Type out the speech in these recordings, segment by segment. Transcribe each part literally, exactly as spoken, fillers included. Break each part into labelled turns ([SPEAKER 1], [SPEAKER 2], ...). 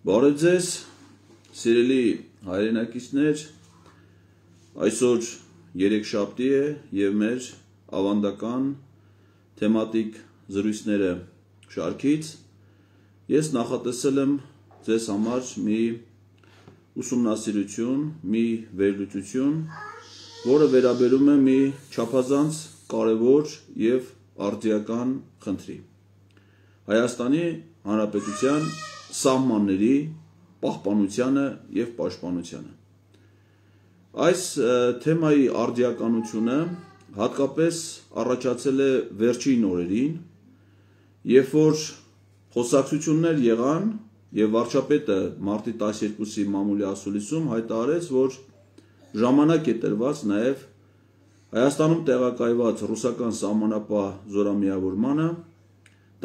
[SPEAKER 1] Բարև ձեզ, սիրելի հայրենակիցներ, այսօր երեքշաբթի է և մեր ավանդական թեմատիկ զրույցները շարքից ես նախատեսել եմ ձեզ համար մի ուսումնասիրություն, մի վերլուծություն, որը վերաբերում է մի չափազանց կարևոր և արդիական խնդրի։ Հայաստանի Հանրապետության սահմանների պահպանությանը և պաշտպանությանը։ Այս թեմայի արդիականությունը հատկապես առաջացել է վերջին օրերին, երբ որ խոսակցություններ եղան և վարչապետը մարտի տասներկուսի մամուլի ասուլիսում հայտարարեց, որ ժամանակ է տրված նաև Հայաստանում տեղակայված ռուսական սահմանապահ զորամիավորմանը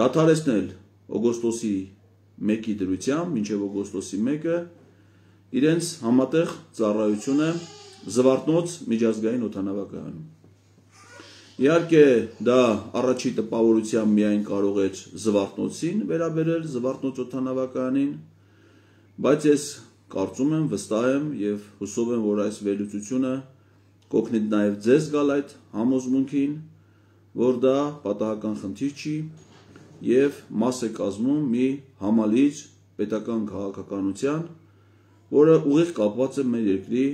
[SPEAKER 1] դադարեցնել օգոստոսի մեկի դրությամբ մինչև օգոստոսի մեկը իրենց համատեղ ծառայությունը Զվարթնոց միջազգային օդանավակայանում։ Իհարկե դա առաջի տպավորությամբ միայն կարող էր Զվարթնոցին վերաբերել, Զվարթնոց օդանավակայանին, բայց ես կարծում եմ, վստահ եմ և հուսով եմ, որ այս վերլուծությունը կօգնի նաև ձեզ գալ այդ համոզմունքին, որ դա պատահական խնդիր չի և մաս է կազմում մի համալիր պետական քաղաքականության, որը ուղիղ կապված է մեր երկրի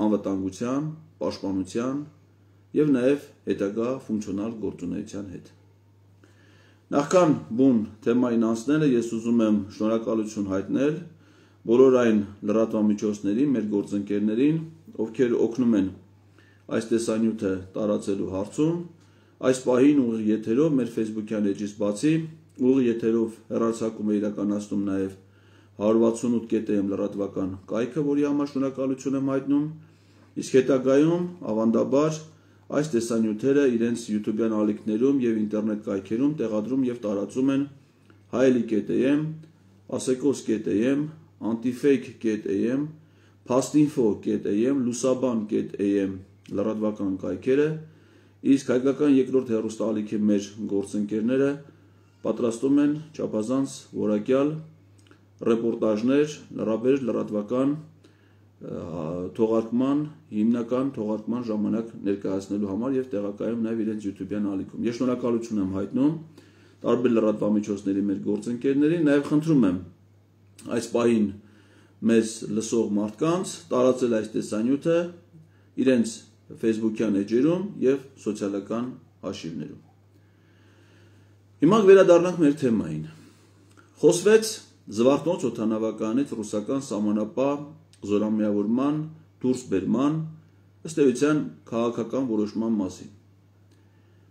[SPEAKER 1] անվտանգության, պաշտպանության և նաև հետագա ֆունկցիոնալ գործունեության հետ։ Նախքան բուն թեմային անցնելը ես ուզում եմ շնորհակալություն հայտնել բոլոր այն լրատվամիջոցներին, մեր գործընկերներին, ովքեր օգնում են այս տեսանյութը տարածելու հարցում, այս պահին ուղիղ եթերով մեր Facebook-յան էջից բացի, ուղիղ եթերով հեռարձակում է իրականացնում նաև հարյուր վաթսունութ կետ էմ լրատվական կայքը, որի համար շնորհակալություն եմ հայտնում, իսկ հետագայում ավանդաբար այս տեսանյութերը իրենց YouTube-յան ալիքներում և ինտերնետ կայքերում տեղադրում և տարածում են հայելի կետ էմ, ասեկոս կետ էմ, անտիֆեյք կետ էմ, փաստինֆո կետ էմ, լուսաբան կետ էմ լրատվական կայքերը, իսկ հայկական երկրորդ հեռուստաալիքի մեր գործընկերները պատրաստում են չափազանց որակյալ ռեպորտաժներ լրաբեր լրատվական թողարկման, հիմնական թողարկման ժամանակ ներկայացնելու համար և տեղակայում նաև իրենց YouTube-յան ալիքում։ Ես շնորհակալություն եմ հայտնում տարբեր լրատվամիջոցների մեր գործընկերներին, նաև խնդրում եմ այս պահին մեզ լսող մարդկանց տարածել այս տեսանյութը իրենց Facebook-յան էջերում և սոցիալական հաշիվներում։ Հիմա վերադառնանք մեր թեմային։ Խոսվեց Զվարթնոց օդանավակայանից ռուսական սահմանապահ զորամիավորման դուրսբերման, ըստ էության քաղաքական որոշման մասին։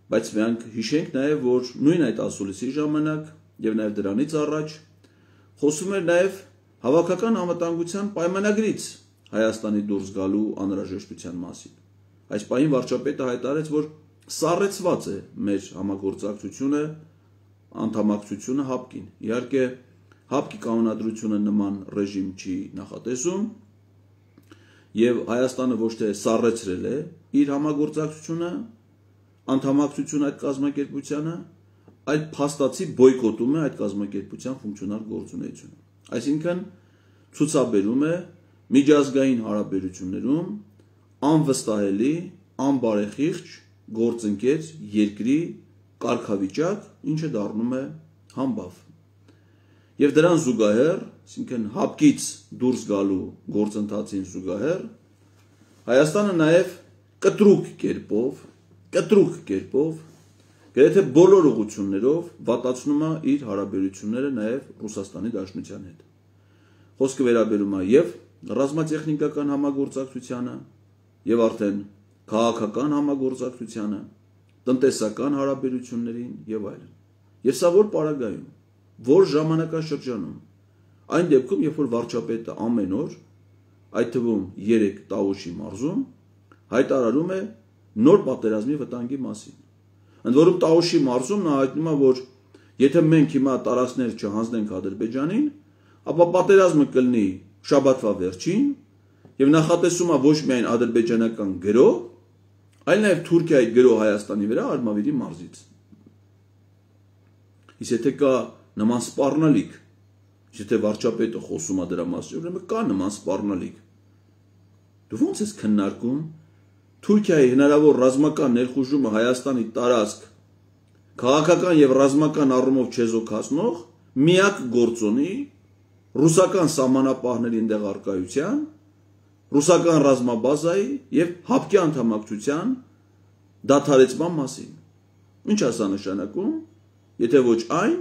[SPEAKER 1] Բայց մենք հիշենք նաև, որ նույն այդ ասուլիսի ժամանակ և նաև դրանից առաջ խոսում էր նաև հավաքական անվտանգության պայմանագրից Հայաստանի դուրս գալու անհրաժեշտության մասին։ Այս պահին վարչապետը հայտարարեց, որ սառեցված է մեր համագործակցությունը, անդամակցությունը հապկին։ Իհարկե, հապկի կանոնադրությունը նման ռեժիմ չի նախատեսում և Հայաստանը ոչ թե սառեցրել է իր համագործակցությունը, անդամակցությունը այդ կազմակերպությանը, այլ փաստացի բոյկոտում է այդ կազմակերպության ֆունկցիոնալ գործունեությունը։ Այսինքն ցուցաբերում է միջազգային հարաբերություններում անվստահելի, անբարեխիղճ գործընկեր երկրի կարգավիճակ, ինչը դառնում է համբավ։ Եվ դրան զուգահեռ, այսինքն հապկից դուրս գալու գործընթացին զուգահեռ, Հայաստանը նաև կտրուկ կերպով, կտրուկ կերպով, գրեթե բոլոր ուղղություններով վատացնում է իր հարաբերությունները նաև Ռուսաստանի Դաշնության հետ։ Խոսքը վերաբերում է և ռազմատեխնիկական համագործակցությանը, և արդեն քաղաքական համագործակցությանը, տնտեսական հարաբերություններին և այլն։ Եվ սա որ պարագայում, որ ժամանակաշրջանում, այն դեպքում, երբ որ վարչապետը ամեն օր, այդ թվում երեկ Տավուշի մարզում, հայտարարում է նոր պատերազմի վտանգի մասին։ Ընդ որում Տավուշի մարզում նա հայտնում է, որ եթե մենք հիմա տարածքներ չհանձնենք Ադրբեջանին, ապա պատերազմը կլինի շաբաթվա վերջին և նախատեսում է ոչ միայն ադրբեջանական գրոհ, այլ նաև Թուրքիայի գրոհ Հայաստանի վրա Արմավիրի մարզից։ Իսկ եթե կա նման սպառնալիք Եթե վարչապետը խոսում է դրա մասին, ուրեմն կա նման սպառնալիք։ Դու ո՞նց ես քննարկում Թուրքիայի հնարավոր ռազմական ներխուժումը Հայաստանի տարածք քաղաքական եւ ռազմական առումով չեզոքացնող միակ գործոնի ռուսական սահմանապահների ընդեղ արկայության, ռուսական ռազմաբազայի եւ հապկի անդամակցության դադարեցման մասին։ Ինչ է սա նշանակում, եթե ոչ այն,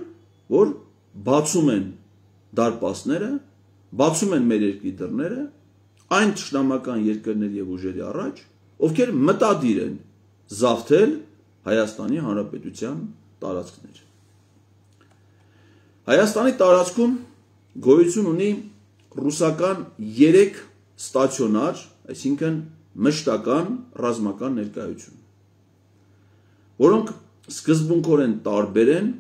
[SPEAKER 1] որ բացում են դարպասները, բացում են մեր երկրի դռները այն թշնամական երկրների եւ ուժերի առաջ, ովքեր մտադիր են զավթել Հայաստանի Հանրապետության տարածքներ։ Հայաստանի տարածքում գոյություն ունի ռուսական երեք ստացիոնար, այսինքն մշտական ռազմական ներկայություն, որոնք սկզբունքորեն տարբեր են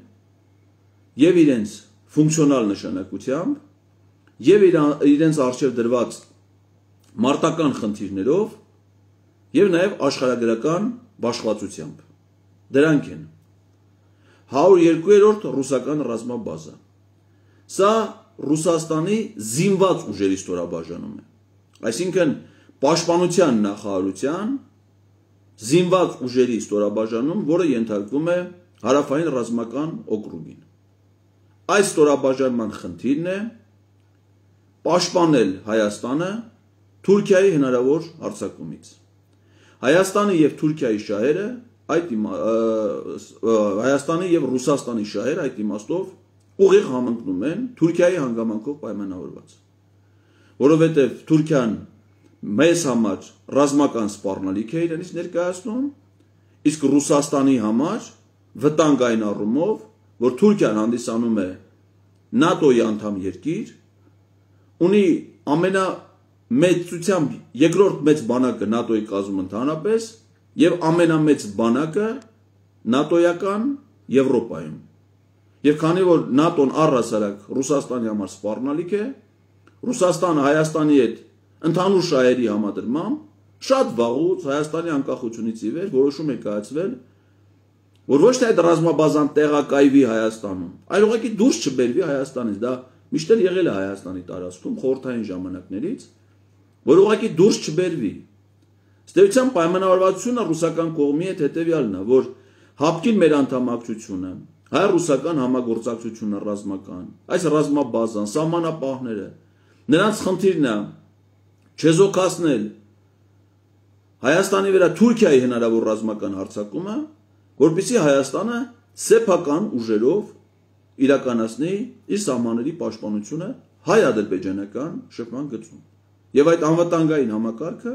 [SPEAKER 1] եւ իրենց ֆունկցիոնալ նշանակությամբ եւ իրենց արժեվ դրված մարտական խնդիրներով եւ նաեւ աշխարհագրական բաշխվածությամբ։ Դրանք են հարյուր երկու-րդ ռուսական ռազմաբազա։ Սա Ռուսաստանի զինված ուժերի ստորաբաժանում է։ Այսինքն պաշտպանության նախարարության զինված ուժերի ստորաբաժանում, որը ենթարկվում է հարավային ռազմական օկրուգին։ Այս ստորաբաժանման խնդիրն է պաշտպանել Հայաստանը Թուրքիայի հնարավոր հարձակումից։ Հայաստանի եւ Թուրքիայի շահերը այդ Հայաստանի եւ Ռուսաստանի շահերը այդ իմաստով ուղիղ համընկնում են Թուրքիայի հանգամանքով պայմանավորված, որովհետեւ Թուրքիան մեզ համար ռազմական սպառնալիք է իրենից ներկայացնում, իսկ Ռուսաստանի համար վտանգ այն առումով, որ Թուրքիան հանդիսանում է նատոյի անդամ երկիր, ունի ամենամեծությամբ երկրորդ մեծ բանակը նատոյի կազմում ընդհանրապես եւ ամենամեծ բանակը նատոյական Եվրոպայում։ Եվ քանի որ նատոն առհասարակ Ռուսաստանի համար սպառնալիք է, Ռուսաստանը Հայաստանի հետ ընդհանուր շահերի համադրմամբ շատ վաղուց Հայաստանի անկախությունից ի վեր որոշում է կայացվել, որ ոչ թե այդ ռազմաբազան տեղակայվի Հայաստանում, այլ ուղղակի դուրս չբերվի Հայաստանից։ Դա միշտ էլ եղել է Հայաստանի տարածքում խորհրդային ժամանակներից, որ ուղղակի դուրս չբերվի։ Ստեյության պայմանավորվածությունը ռուսական կողմի հետ հետևյալն է, որ հապկին մեր անդամակցությունը, հայ-ռուսական համագործակցությունը ռազմական, այս ռազմաբազան, սահմանապահները, նրանց խնդիրն է չեզոքացնել Հայաստանի վրա Թուրքիայի հնարավոր ռազմական հարձակումը, որպեսզի Հայաստանը սեփական ուժերով իրականացնի իր սահմանների պաշտպանությունը հայ-ադրբեջանական շփման գծում։ Եվ այդ անվտանգային համակարգը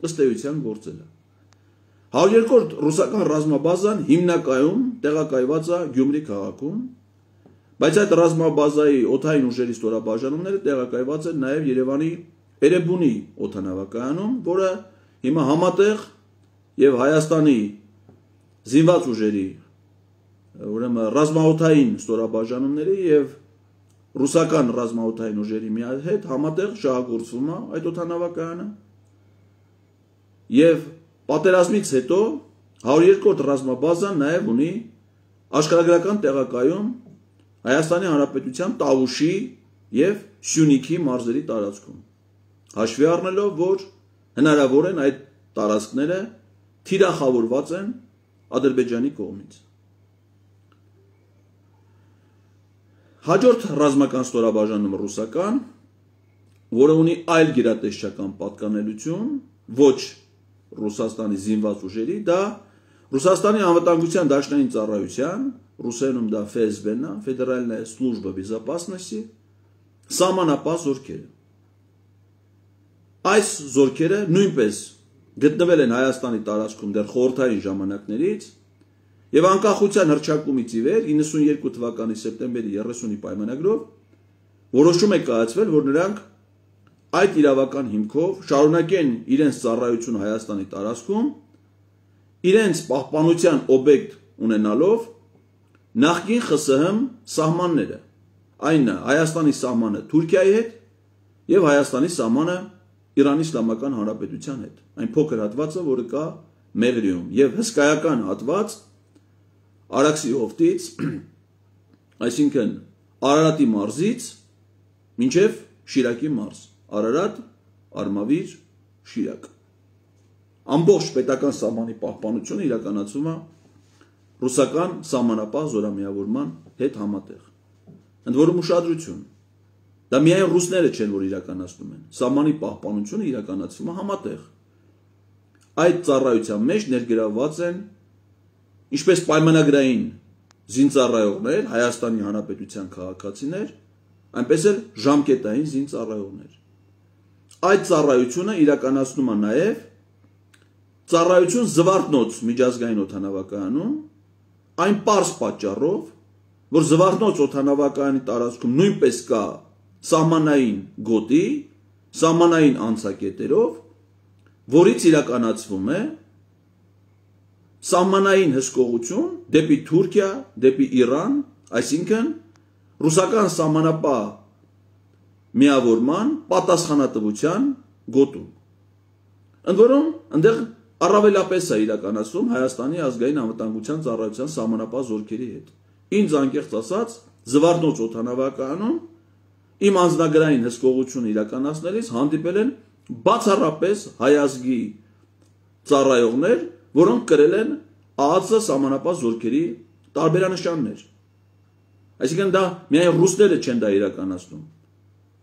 [SPEAKER 1] ըստ էության գործել է։ հարյուր երկրորդ ռուսական ռազմաբազան հիմնականում տեղակայված է Գյումրի քաղաքում, բայց այդ ռազմաբազայի օդային ուժերի ստորաբաժանումները տեղակայված են նաև Երևանի Էրեբունի օդանավակայանում, որը հիմա համատեղ եւ Հայաստանի զինված ուժերի, ուրեմն ռազմաօդային ստորաբաժանումների եւ ռուսական ռազմաօդային ուժերի միահետ համատեղ շահագործվում է այդ օդանավակայանը։ Եվ պատերազմից հետո հարյուր երկրորդ ռազմաբազան նաև ունի աշխարհագրական տեղակայում Հայաստանի Հանրապետության Տավուշի եւ Սյունիքի մարզերի տարածքում, հաշվի առնելով, որ հնարավոր են այդ տարածքները թիրախավորված են Ադրբեջանի կողմից։ Հաջորդ ռազմական ստորաբաժանումը ռուսական, որը ունի այլ գերատեսչական պատկանելություն, ոչ Ռուսաստանի զինված ուժերի, դա Ռուսաստանի անվտանգության դաշնային ծառայության, ռուսերենում դա Эф Эс Бэ-ն է, Ֆեդերальная служба безопасности, սահմանապահ զորքերը։ Այս զորքերը նույնպես գտնվել են Հայաստանի տարածքում դեռ խորհրդային ժամանակներից եւ անկախության հռչակումից ի վեր իննսունյերկու թվականի սեպտեմբերի երեսունի պայմանագրով որոշում է կայացվել, որ նրանք այդ իրավական հիմքով շարունակեն իրենց ծառայությունը Հայաստանի տարածքում, իրենց պահպանության օբյեկտ ունենալով նախկին Խ Ս Հ սահմանները, այն է Հայաստանի սահմանը Թուրքիայի հետ եւ Հայաստանի սահմանը Իրանի Իսլամական Հանրապետության հետ, այն փոքր հատվածը, որը կա Մեղրիում, եւ հսկայական հատված Արաքսի հովտից, այսինքն Արարատի մարզից մինչև Շիրակի մարզ, Արարատ, Արմավիր, Շիրակ։ Ամբողջ պետական սահմանի պահպանությունը իրականացվում է ռուսական սահմանապահ զորամիավորման հետ համատեղ։ Ընդ որում ուշադրություն, դա միայն ռուսները չեն, որ իրականացնում են, սահմանի պահպանությունը իրականացվում է համատեղ։ Այդ ծառայության մեջ ներգրավված են ինչպես պայմանագրային զինծառայողներ, Հայաստանի Հանրապետության քաղաքացիներ, այնպես էլ ժամկետային զինծառայողներ։ Այդ ծառայությունը իրականացնում է նաև ծառայություն Զվարթնոց միջազգային օդանավակայանում, այն պարզ պատճառով, որ Զվարթնոց օդանավակայանի տարածքում նույնպես կա սահմանային գոտի, սահմանային անցակետերով, որից իրականացվում է սահմանային հսկողություն դեպի Թուրքիա, դեպի Իրան, այսինքն ռուսական սահմանապահ միավորման պատասխանատվության գոտում։ Ընդ որում, այնտեղ առավելապես է իրականացվում Հայաստանի ազգային անվտանգության ծառայության սահմանապահ զորքերի հետ։ Ինձ անկեղծ ասած, Զվարթնոց օդանավակայանում իմ անձնագրային հսկողությունը իրականացնելիս հանդիպել են բացառապես հայ ազգի ծառայողներ, որոնք կրել են ԱԱԾ սահմանապահ զորքերի տարբերանշաններ։ Այսինքն դա միայն ռուսները չեն դա իրականացնում։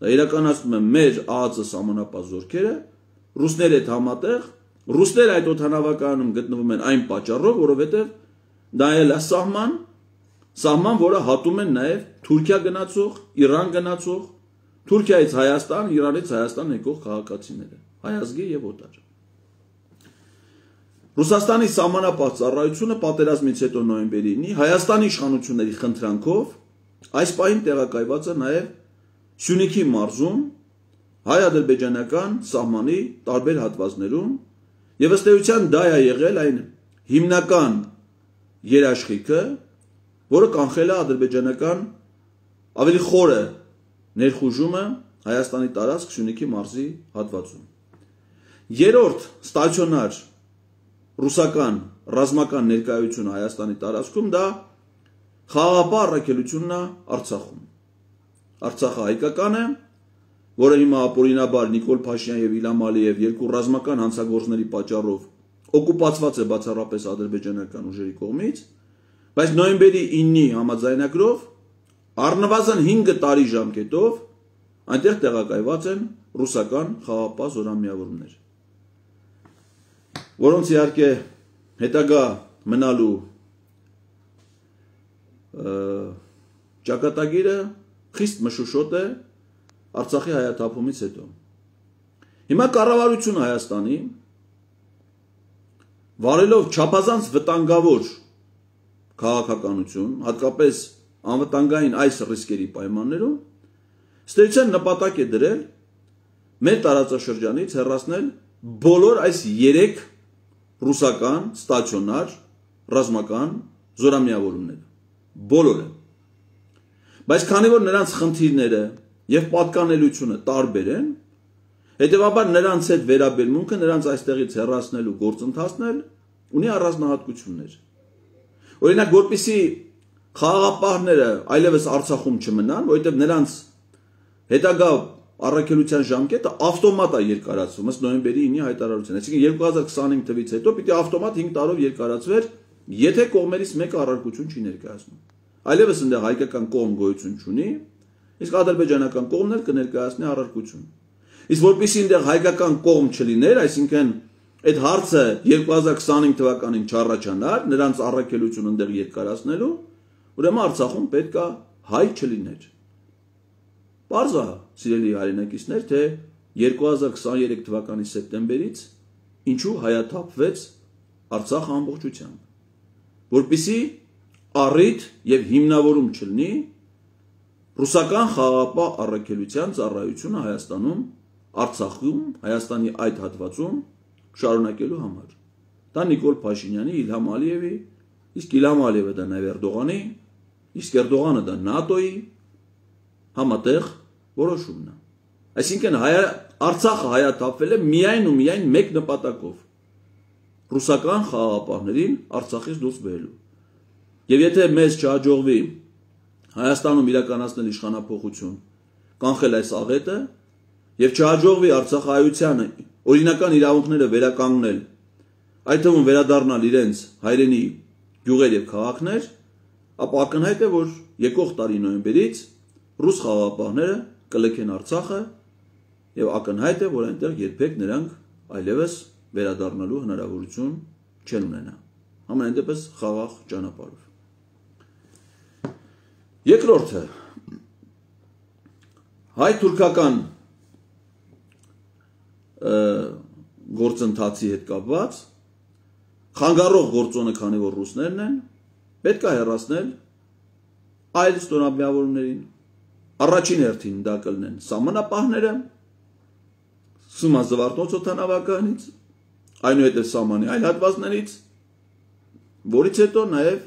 [SPEAKER 1] Դա իրականացնում են մեր ԱԱԾ սահմանապահ զորքերը, ռուսների հետ համատեղ, ռուսները այդ օդանավակայանում գտնվում են այն պատճառով, որովհետև դա էլ է սահման, սահման, որը հատում են նաև Թուրքիա գնացող, Իրան գնացող, Թուրքիայից Հայաստան, Իրանից Հայաստան եկող քաղաքացիները, հայ ազգի եւ օտար։ Ռուսաստանի սահմանապահ ծառայությունը պատերազմից հետո նոյեմբերի ինը Հայաստանի իշխանությունների խնդրանքով այս պահին տեղակայված է նաև Սյունիքի մարզում հայ-ադրբեջանական սահմանի տարբեր հատվածներում եւ ըստ էության դա է եղել այն հիմնական երաշխիքը, որը կանխել է ադրբեջանական ավելի խորը ներխուժումը Հայաստանի տարածք Սյունիքի մարզի հատվածում։ Երրորդ ստացիոնար ռուսական ռազմական ներկայությունը Հայաստանի տարածքում դա խաղաղապահ առաքելությունն է Արցախում։ Արցախը հայկական է, որը հիմա ապօրինաբար Նիկոլ Փաշինյան եւ Իլհամ Ալիև երկու ռազմական հանցագործների պատճառով օկուպացված է բացառապես ադրբեջանական ուժերի կողմից, բայց նոյեմբերի ինը համաձայնագրով առնվազն հինգ տարի ժամկետով այնտեղ տեղակայված են ռուսական խաղաղապահ զորամիավորումներ, որոնց իհարկե հետագա մնալու ճակատագիրը խիստ մշուշոտ է Արցախի հայաթափումից հետո։ Հիմա կառավարությունը Հայաստանի վարելով չափազանց վտանգավոր քաղաքականություն, հատկապես անվտանգային այս ռիսկերի պայմաններում, ստեյցիան նպատակ է դրել մեր տարածաշրջանից հեռացնել բոլոր այս երեք ռուսական ստացիոնար ռազմական զորամիավորումները, բոլորը։ Բայց քանի որ նրանց խնդիրները եւ պատկանելությունը տարբեր են, հետեւաբար նրանց հետ վերաբերմունքը նրանց այստեղից հեռացնելու գործընթացն էլ ունի առանձնահատկություններ։ Օրինակ, որպեսզի խաղաղապահները այլևս Արցախում չմնան, որովհետեւ նրանց հետագա առաքելության ժամկետը ավտոմատ է երկարացվում, ըստ նոյեմբերի ինը հայտարարության։ Այսինքն երկու հազար քսանհինգ թվականից հետո պիտի ավտոմատ հինգ տարով երկարացվեր, եթե կողմերից մեկը առարկություն չի ներկայացնում։ Այլևս այնտեղ հայկական կողմ գոյություն չունի, իսկ ադրբեջանական կողմն էլ կներկայացնի առարկություն։ Իսկ որպեսզի այնտեղ հայկական կողմ չլիներ, այսինքն այդ հարցը երկու հազար քսանհինգ թվականին չառաջանար, նրանց առաքելությունը այնտեղ երկարացնելու, ուրեմն Արցախում պետք է հայ չլիներ։ Պարզ է, սիրելի հայրենակիցներ, թե երկու հազար քսաներեք թվականի սեպտեմբերից ինչու հայաթափվեց Արցախը ամբողջությամբ, որպեսզի առիթ եւ հիմնավորում չլինի ռուսական խաղաղապահ առաքելության ծառայությունը Հայաստանում, Արցախում, Հայաստանի այդ հատվածում շարունակելու համար։ Դա Նիկոլ Փաշինյանի, Իլհամ Ալիևի, իսկ Իլհամ Ալիևը դա նաև Էրդողանի, իսկ Էրդողանը դա ՆԱՏՕ-ի համատեղ որոշումն է։ Այսինքն Արցախը հայաթափվել է միայն ու միայն մեկ նպատակով՝ ռուսական խաղաղապահներին Արցախից դուրս բերելու։ Եվ եթե մեզ չհաջողվի Հայաստանում իրականացնել իշխանափոխություն կանխել այս աղետը եւ չհաջողվի Արցախայությանը օրինական իրավունքները վերականգնել, այդ թվում վերադառնալ իրենց հայրենի գյուղեր եւ քաղաքներ, ապա ակնհայտ է, որ եկող տարի նոյեմբերից ռուս խաղաղապահները կլքեն Արցախը եւ ակնհայտ է, որ այնտեղ երբեք նրանք այլևս վերադառնալու հնարավորություն չեն ունենա։ Ամենայն դեպս խաղաղ ճանապարհով։ Երկրորդը հայ-թուրքական գործընթացի հետ կապված խանգարող գործոնը, քանի որ ռուսներն են, պետք է հեռացնել այլ ստորաբյուրներին։ Առաջին հերթին դա կլինեն սահմանապահները, Սումազվարթնոց օդանավականից, այնուհետև սահմանի այլ հատվածներից, որից հետո նաև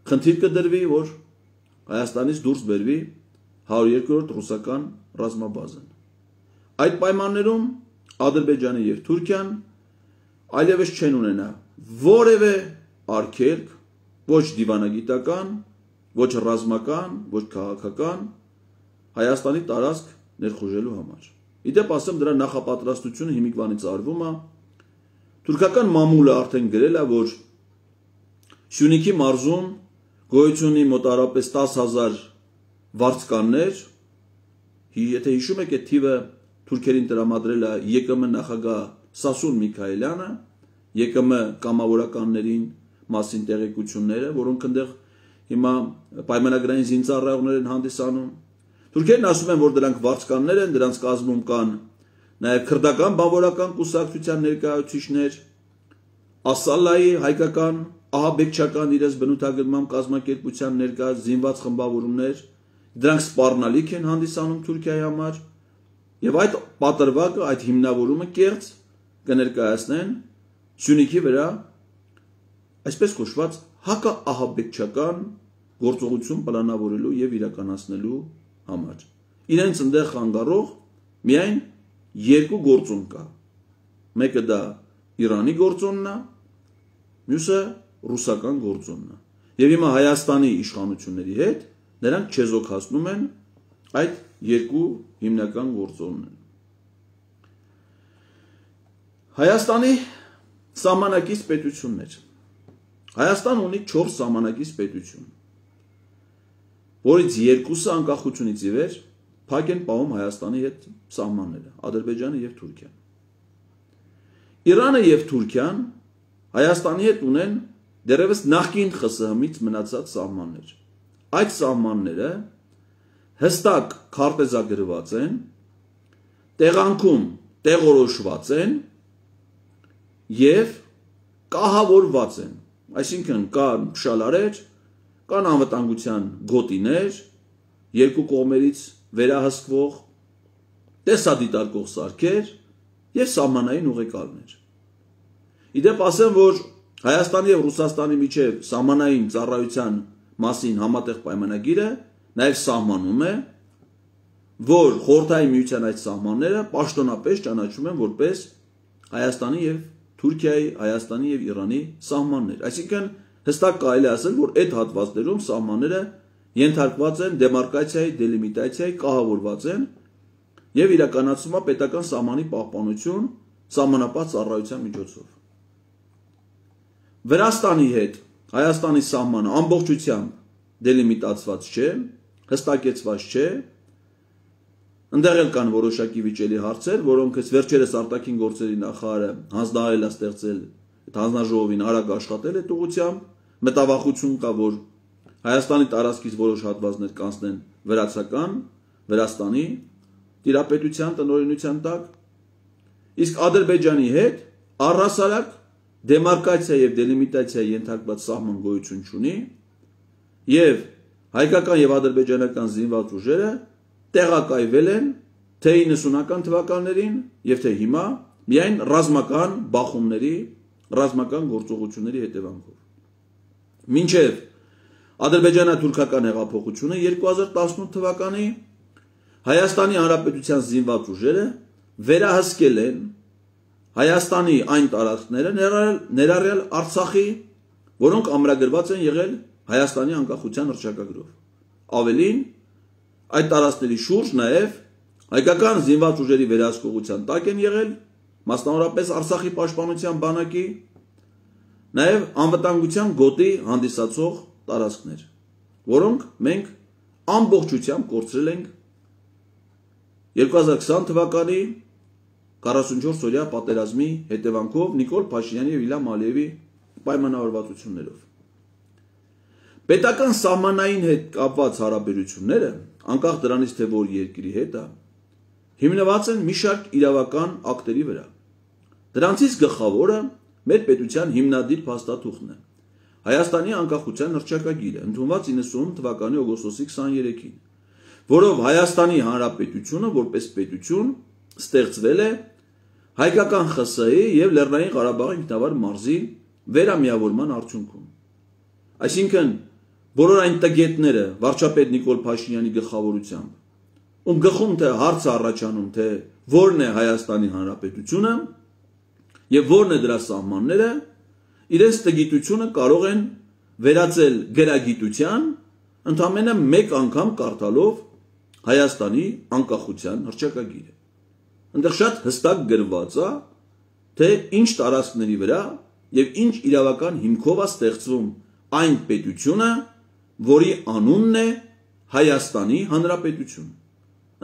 [SPEAKER 1] խնդիր կդրվի, որ Հայաստանից դուրս բերվի հարյուր երկրորդ ռուսական ռազմաբազան։ Այդ պայմաններում Ադրբեջանը եւ Թուրքիան այլևս չեն ունենա որևէ արգելք, ոչ դիվանագիտական, ոչ ռազմական, ոչ քաղաքական Հայաստանի տարածք ներխուժելու համար։ Իդեպ ասեմ, դրա նախապատրաստությունը հիմիկվանից արվում է։ Թուրքական մամուլը արդեն գրել է, որ Սյունիքի մարզում գոյություն ունի մոտարապես տասը հազար վարձկաններ, եթե հիշում եք, այդ թիվը թուրքերին տրամադրել է ԵԿՄ նախագահ Սասուն Միքայելյանը, ԵԿՄ կամավորականներին մասին տեղեկությունները, որոնք այնտեղ հիմա պայմանագրային զինծառայողներ են հանդիսանում։ Թուրքերն ասում են, որ դրանք վարձկաններ են, դրանց կազմում կան նաև քրդական բանվորական կուսակցության ներկայացուցիչներ, Ասալայի հայկական ահաբեկչական իրենց բնութագրման կազմակերպության ներկա զինված խմբավորումներ, դրանք սպառնալիք են հանդիսանում Թուրքիայի համար, եւ այդ պատրվակը, այդ հիմնավորումը կեղծ կներկայացնեն Սյունիքի վրա այսպես կոչված հակաահաբեկչական գործողություն պլանավորելու եւ իրականացնելու համար։ Իրենց ընդեղ խանգարող միայն երկու գործոն կա։ Մեկը դա Իրանի գործոնն է, մյուսը ռուսական գործոնն է։ Եվ հիմա Հայաստանի իշխանությունների հետ նրանք չեզոքացնում են այդ երկու հիմնական գործոնները։ Հայաստանի սահմանակից պետություններ։ Հայաստան ունի չորս սահմանակից պետություն, որից երկուսը անկախությունից ի վեր փակ են պահում Հայաստանի հետ սահմանները, Ադրբեջանը եւ Թուրքիան։ Իրանը եւ Թուրքիան Հայաստանի հետ ունեն դեռևս նախկին ԽՍՀՄ-ից մնացած սահմաններ։ Այդ սահմանները հստակ քարտեզագրված են, տեղանքում տեղորոշված են եւ կահավորված են։ Այսինքն կան փշալարեր, կան անվտանգության գոտիներ, երկու կողմերից վերահսկվող, տեսադիտարկող սարքեր եւ սահմանային ուղեկալներ։ Իդեպ ասեմ, որ Հայաստանի եւ Ռուսաստանի միջև սահմանային ծառայության մասին համատեղ պայմանագիրը նաեւ սահմանում է, որ խորհրդային միության այդ սահմանները պաշտոնապես ճանաչվում են որպես Հայաստանի եւ Թուրքիայի, Հայաստանի եւ Իրանի սահմաններ։ Այսինքն հստակ կարելի ասել, որ այդ հատվածներում սահմանները ենթարկված են դեմարկացիայի, դելիմիտացիայի, կահավորված են եւ իրականացվում է պետական սահմանի պահպանություն սահմանապահ ծառայության միջոցով։ Վրաստանի հետ Հայաստանի սահմանը ամբողջությամբ դելիմիտացված չէ, հստակեցված չէ։ Ընդեղ էլ կան որոշակի վիճելի հարցեր, որոնք վերջերս արտաքին գործերի նախարարը հանձնարարել է ստեղծել այդ հանձնաժողովին արագ աշխատել այդ ուղղությամբ, մտավախություն կա, որ Հայաստանի տարածքից որոշ հատվածներ կանցնեն վրացական, Վրաստանի տիրապետության տնօրինության տակ, իսկ Ադրբեջանի հետ առհասարակ դեմարկացիա եւ դելիմիտացիա ենթարկված սահման գոյություն չունի, եւ հայկական եւ ադրբեջանական զինված ուժերը տեղակայվել են թե իննսունական թվականներին եւ թե հիմա միայն ռազմական բախումների, ռազմական գործողությունների հետևանքով։ Մինչեւ ադրբեջանա-թուրքական հեղափոխությունը երկու հազար տասնութ թվականի Հայաստանի Հանրապետության զինված ուժերը վերահսկել են Հայաստանի այն տարածքները, ներառյալ Արցախի, որոնք ամրագրված են եղել Հայաստանի անկախության հռչակագրով։ Ավելին, այդ տարածքների շուրջ նաև հայկական զինված ուժերի վերահսկողության տակ են եղել, մասնավորապես Արցախի պաշտպանության բանակի, նաև անվտանգության գոտի հանդիսացող տարածքներ, որոնք մենք ամբողջությամբ կորցրել ենք երկու հազար քսան թվականի քառասունչորս օրյա պատերազմի հետևանքով Նիկոլ Փաշինյանի և Իլհամ Ալիևի պայմանավորվածություններով։ Պետական սահմանային հետ կապված հարաբերությունները, անկախ դրանից թե որ երկրի հետ է, հիմնված են մի շարք իրավական ակտերի վրա։ Դրանցից գլխավորը մեր պետության հիմնադիր փաստաթուղթն է, Հայաստանի անկախության հռչակագիրը, ընդունված իննսուն թվականի օգոստոսի քսաներեքին, որով Հայաստանի Հանրապետությունը որպես պետություն ստեղծվել է հայկական ԽՍՀ-ի և Լեռնային Ղարաբաղի ինքնավար մարզի վերամիավորման արդյունքում։ Այսինքն, բոլոր այն տգետները վարչապետ Նիկոլ Փաշինյանի գլխավորությամբ, ում գլխում թե հարց է առաջանում, թե որն է Հայաստանի Հանրապետությունը և որն է դրա սահմանները, իրենց տգիտությունը կարող են վերածել գրագիտության, ընդամենը մեկ անգամ կարդալով Հայաստանի անկախության հռչակագիրը։ Այնտեղ շատ հստակ գրված է, թե ինչ տարածքների վրա և ինչ իրավական հիմքով է ստեղծվում այն պետությունը, որի անունն է Հայաստանի Հանրապետություն,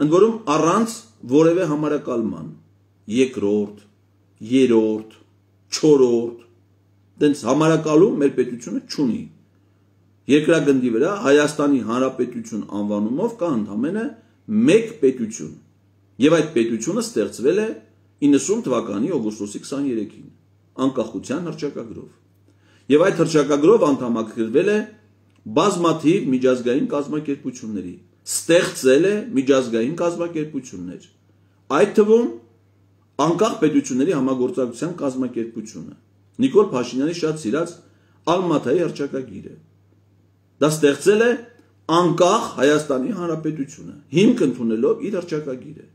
[SPEAKER 1] ընդ որում առանց որևէ համարակալման, երկրորդ, երրորդ, չորրորդ, դենց համարակալում մեր պետությունը չունի։ Երկրագնդի վրա Հայաստանի Հանրապետություն անվանումով կա ընդամենը մեկ պետություն, և այդ պետությունը ստեղծվել է իննսուն թվականի օգոստոսի քսաներեքին, անկախության հռչակագրով, և այդ հռչակագրով անդամակցվել է բազմաթիվ միջազգային կազմակերպությունների, ստեղծել է միջազգային կազմակերպություններ, այդ թվում անկախ պետությունների համագործակցության կազմակերպությունը, Նիկոլ Փաշինյանի շատ սիրած Ալմաթայի հռչակագիրը։ Դա ստեղծել է անկախ Հայաստանի Հանրապետությունը, հիմք ընդունելով իր հռչակագիրը։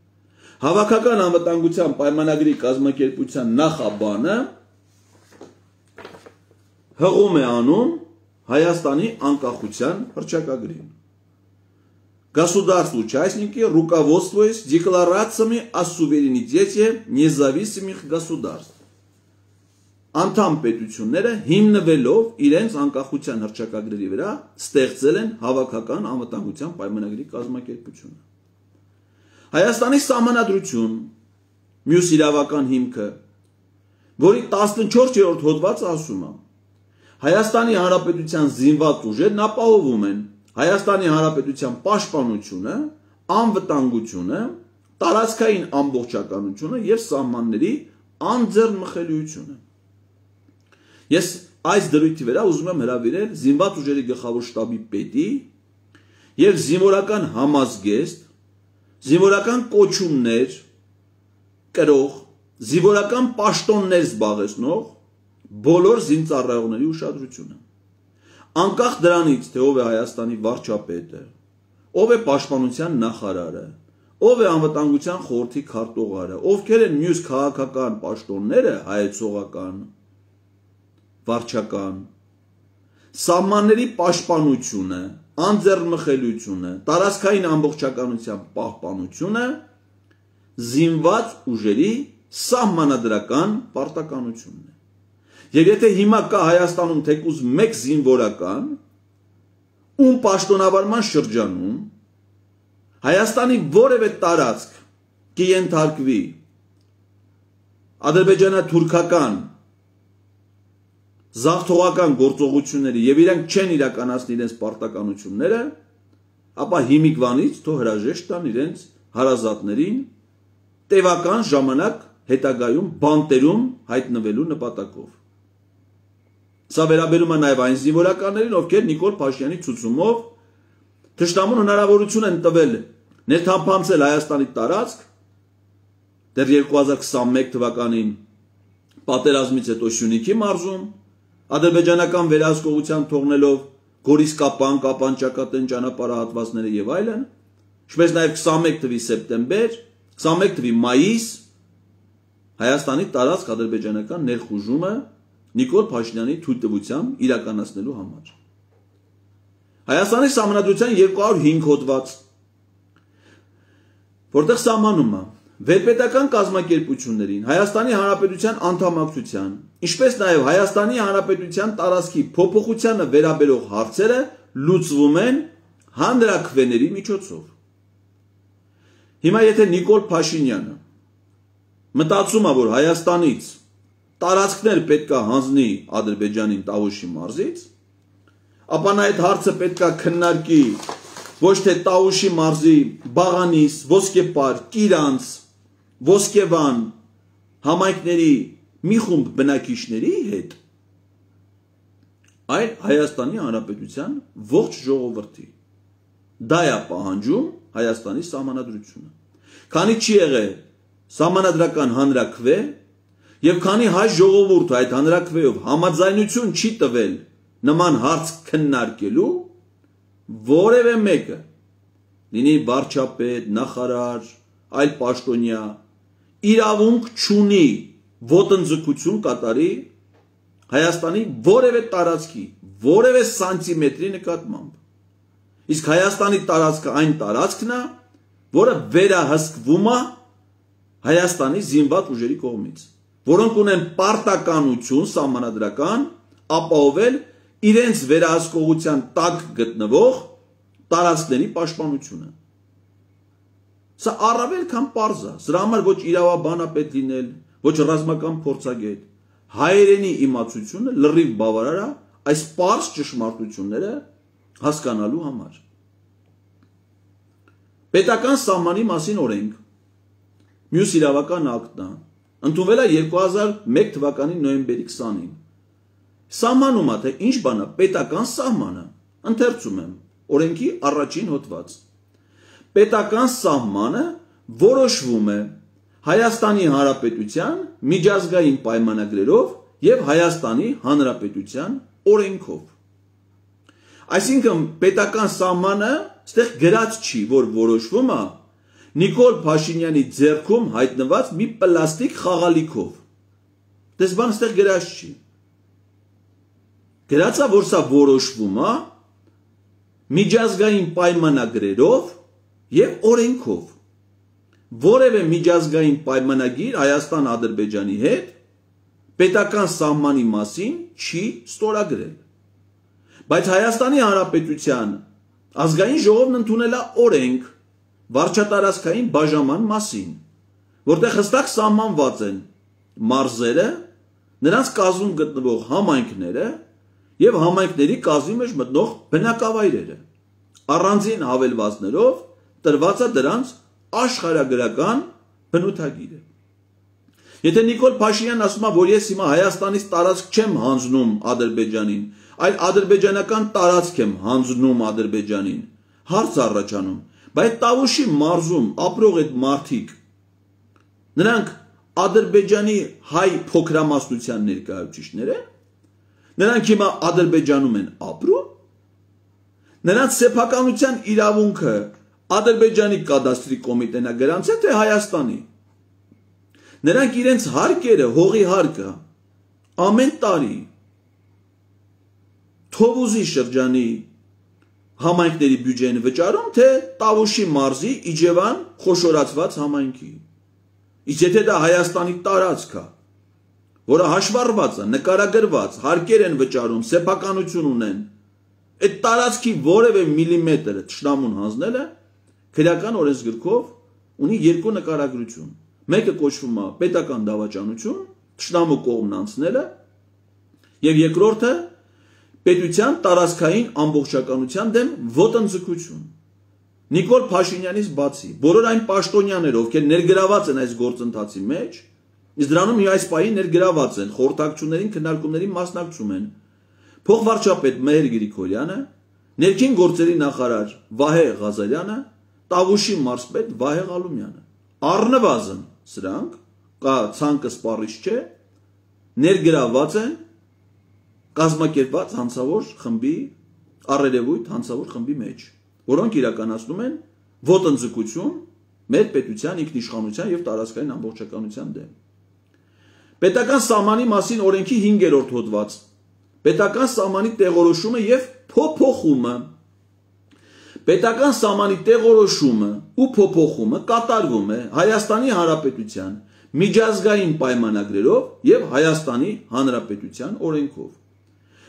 [SPEAKER 1] Հավաքական անվտանգության պայմանագրի կազմակերպության նախաբանը հղում է անում Հայաստանի անկախության հռչակագրին։ Государству участники руководствуясь декларациями о суверенитете независимых государств. Անդամ պետությունները հիմնվելով իրենց անկախության հռչակագրերի վրա ստեղծել են հավաքական անվտանգության պայմանագրի կազմակերպությունը։ Հայաստանի սահմանադրություն, մյուս իրավական հիմքը, որի տասնչորսերորդ հոդվածը ասում է. Հայաստանի Հանրապետության զինված ուժերն ապահովում են Հայաստանի Հանրապետության պաշտպանությունը, անվտանգությունը, տարածքային ամբողջականությունը և սահմանների անձեռնմխելիությունը։ Ես այս դրույթի վրա ուզում եմ հրավիրել զինված ուժերի գլխավոր շտաբի պետի և զինվորական համազգեստ, զինվորական կոչումներ կրող, զինվորական պաշտոններ զբաղեցնող բոլոր զինծառայողների ուշադրությունը։ Անկախ դրանից, թե ով է Հայաստանի վարչապետը, ով է պաշտպանության նախարարը, ով է անվտանգության խորհրդի քարտուղարը, ովքեր են մյուս քաղաքական պաշտոնները, հայեցողական, վարչական, սահմանների պաշտպանությունը, անձեռնմխելիությունը, տարածքային ամբողջականության պահպանությունը զինված ուժերի սահմանադրական պարտականությունն է։ Եվ եթե հիմա կա Հայաստանում թեկուզ մեկ զինվորական, ում պաշտոնավարման շրջանում Հայաստանի որևէ տարածք կենթարկվի ադրբեջանա-թուրքական զաղթողական գործողությունների և իրանք չեն իրականացնի իրենց պարտականությունները, ապա հիմիկվանից թող հրաժեշտ տան իրենց հարազատներին տևական ժամանակ հետագայում բանտերում հայտնվելու նպատակով։ Սա վերաբերում է նաև այն զինվորականներին, ովքեր Նիկոլ Փաշինյանի ցուցումով թշնամուն հնարավորություն են տվել ներթափանցել Հայաստանի տարածք, դեռ երկու հազար քսանմեկ թվականին պատերազմից հետո Սյունիքի մարզում, ադրբեջանական վերահսկողության թողնելով Գորիսկապան, Կապան-Ճակատեն ճանապարհահատվածները եւ այլն, ինչպես նաև քսանմեկ թվականի սեպտեմբեր, քսանմեկ թվականի մայիս Հայաստանի տարածք ադրբեջանական ներխուժումը Նիկոլ Փաշինյանի թույլտվությամբ իրականացնելու համար։ Հայաստանի սահմանադրության երկու հարյուր հինգ հոդված, որտեղ սահմանում է վերպետական կազմակերպություններին Հայաստանի Հանրապետության անդամակցության, ինչպես նաև Հայաստանի Հանրապետության տարածքի փոփոխությանը վերաբերող հարցերը լուծվում են հանրաքվեների միջոցով։ Հիմա եթե Նիկոլ Փաշինյանը մտածում է, որ Հայաստանից տարածքներ պետք է հանձնի Ադրբեջանին Տավուշի մարզից, ապա նա այդ հարցը պետք է քննարկի ոչ թե Տավուշի մարզի Բաղանիս, Ոսկեպար, Կիրանց, Ոսկեվան համայնքների մի խումբ բնակիչների հետ, այլ Հայաստանի Հանրապետության ողջ ժողովրդի։ Դա է պահանջում Հայաստանի սահմանադրությունը։ Քանի չի եղել սահմանադրական հանրաքվե եւ քանի հայ ժողովուրդը այդ հանրաքվեով համաձայնություն չի տվել նման հարց քննարկելու, որևէ մեկը լինի վարչապետ, նախարար, այլ պաշտոնյա իրավունք չունի ոտնձգություն կատարի Հայաստանի որևէ տարածքի, որևէ սանտիմետրի նկատմամբ։ Իսկ Հայաստանի տարածքը այն տարածքն է, որը վերահսկվում է Հայաստանի զինված ուժերի կողմից, որոնք ունեն պարտականություն սահմանադրական ապահովել իրենց վերահսկողության տակ գտնվող տարածքների պաշտպանությունը։ Սա առավել քան պարզ է, սրա համար ոչ իրավաբան է պետք լինել, ոչ ռազմական փորձագետ, հայերենի իմացությունը լրիվ բավարար է այս պարզ ճշմարտությունները հասկանալու համար։ Պետական սահմանի մասին օրենք, մյուս իրավական ակտն է, ընդունվել է երկու հազար մեկ թվականի նոյեմբերի քսանին։ Սահմանում է, թե ինչ բան է պետական սահմանը, ընթերցում եմ, օրենքի առաջին հոդված։ Պետական սահմանը որոշվում է Հայաստանի Հանրապետության միջազգային պայմանագրերով եւ Հայաստանի Հանրապետության օրենքով։ Այսինքն պետական սահմանը այստեղ գրած չի, որ որոշվում է Նիկոլ Փաշինյանի ձեռքում հայտնված մի պլաստիկ խաղալիքով։ Դες բան այստեղ գրած չի։ Գրած է, որ սա որոշվում է միջազգային պայմանագրերով եւ օրենքով։ Որևէ միջազգային պայմանագիր Հայաստան-Ադրբեջանի հետ պետական սահմանի մասին չի ստորագրել։ Բայց Հայաստանի Հանրապետության ազգային ժողովն ընդունել է օրենք վարչատարածքային բաժանման մասին, որտեղ հստակ սահմանված են մարզերը, նրանց կազմում գտնվող համայնքները եւ համայնքների կազմի մեջ մտնող բնակավայրերը, առանձին հավելվածներով տրված է դրանց աշխարհագրական բնութագիրը։ Եթե Նիկոլ Փաշինյանն ասում է, որ ես հիմա Հայաստանից տարածք չեմ հանձնում Ադրբեջանին, այլ ադրբեջանական տարածք եմ հանձնում Ադրբեջանին, հարց առաջանում, բայց Տավուշի մարզում ապրող այդ մարդիկ, նրանք Ադրբեջանի հայ փոքրամասնության ներկայացուցիչներ են, նրանք հիմա Ադրբեջանում են ապրում, նրանց սեփականության իրավունքը Ադրբեջանի կադաստրի կոմիտեն է գրանցել, թե Հայաստանի։ Նրանք իրենց հարկերը, հողի հարկը ամեն տարի Թովուզի շրջանի համայնքների բյուջեն վճարում, թե Տավուշի մարզի Իջևան խոշորացված համայնքի։ Իսկ եթե դա Հայաստանի տարածք է, որը հաշվառված է, նկարագրված, հարկեր են վճարում, սեփականություն ունեն, այդ տարածքի որևէ միլիմետր թշնամուն հանձնելը քրեական օրենսգրքով ունի երկու նկարագրություն։ Մեկը կոչվում է պետական դավաճանություն, թշնամու կողմն անցնելը, եւ երկրորդը պետության տարածքային ամբողջականության դեմ ոտնձգություն։ Նիկոլ Փաշինյանից բացի, բոլոր այն պաշտոնյաները, ովքեր ներգրաված են այս գործընթացի մեջ, իսկ դրանում այս պահի ներգրաված են, խորհրդակցություններին, քննարկումներին մասնակցում են փոխվարչապետ Մեհեր Գրիգորյանը, ներքին գործերի նախարար Վահե Ղազարյանը, Տավուշի մարզպետ Վահե Ղալումյանը։ Առնվազն սրանք, կա ցանկը սպառիչ չէ, ներգրաված են կազմակերպված հանցավոր խմբի, առերևույթ հանցավոր խմբի մեջ, որոնք իրականացնում են ոտնձգություն մեր պետության ինքնիշխանության եւ տարածքային ամբողջականության դեմ։ Պետական սահմանի մասին օրենքի հինգերորդ հոդված, պետական սահմանի տեղորոշումը եւ փոփոխումը։ պետական սահմանի տեղորոշումը ու փոփոխումը կատարվում է Հայաստանի Հանրապետության միջազգային պայմանագրերով եւ Հայաստանի Հանրապետության օրենքով։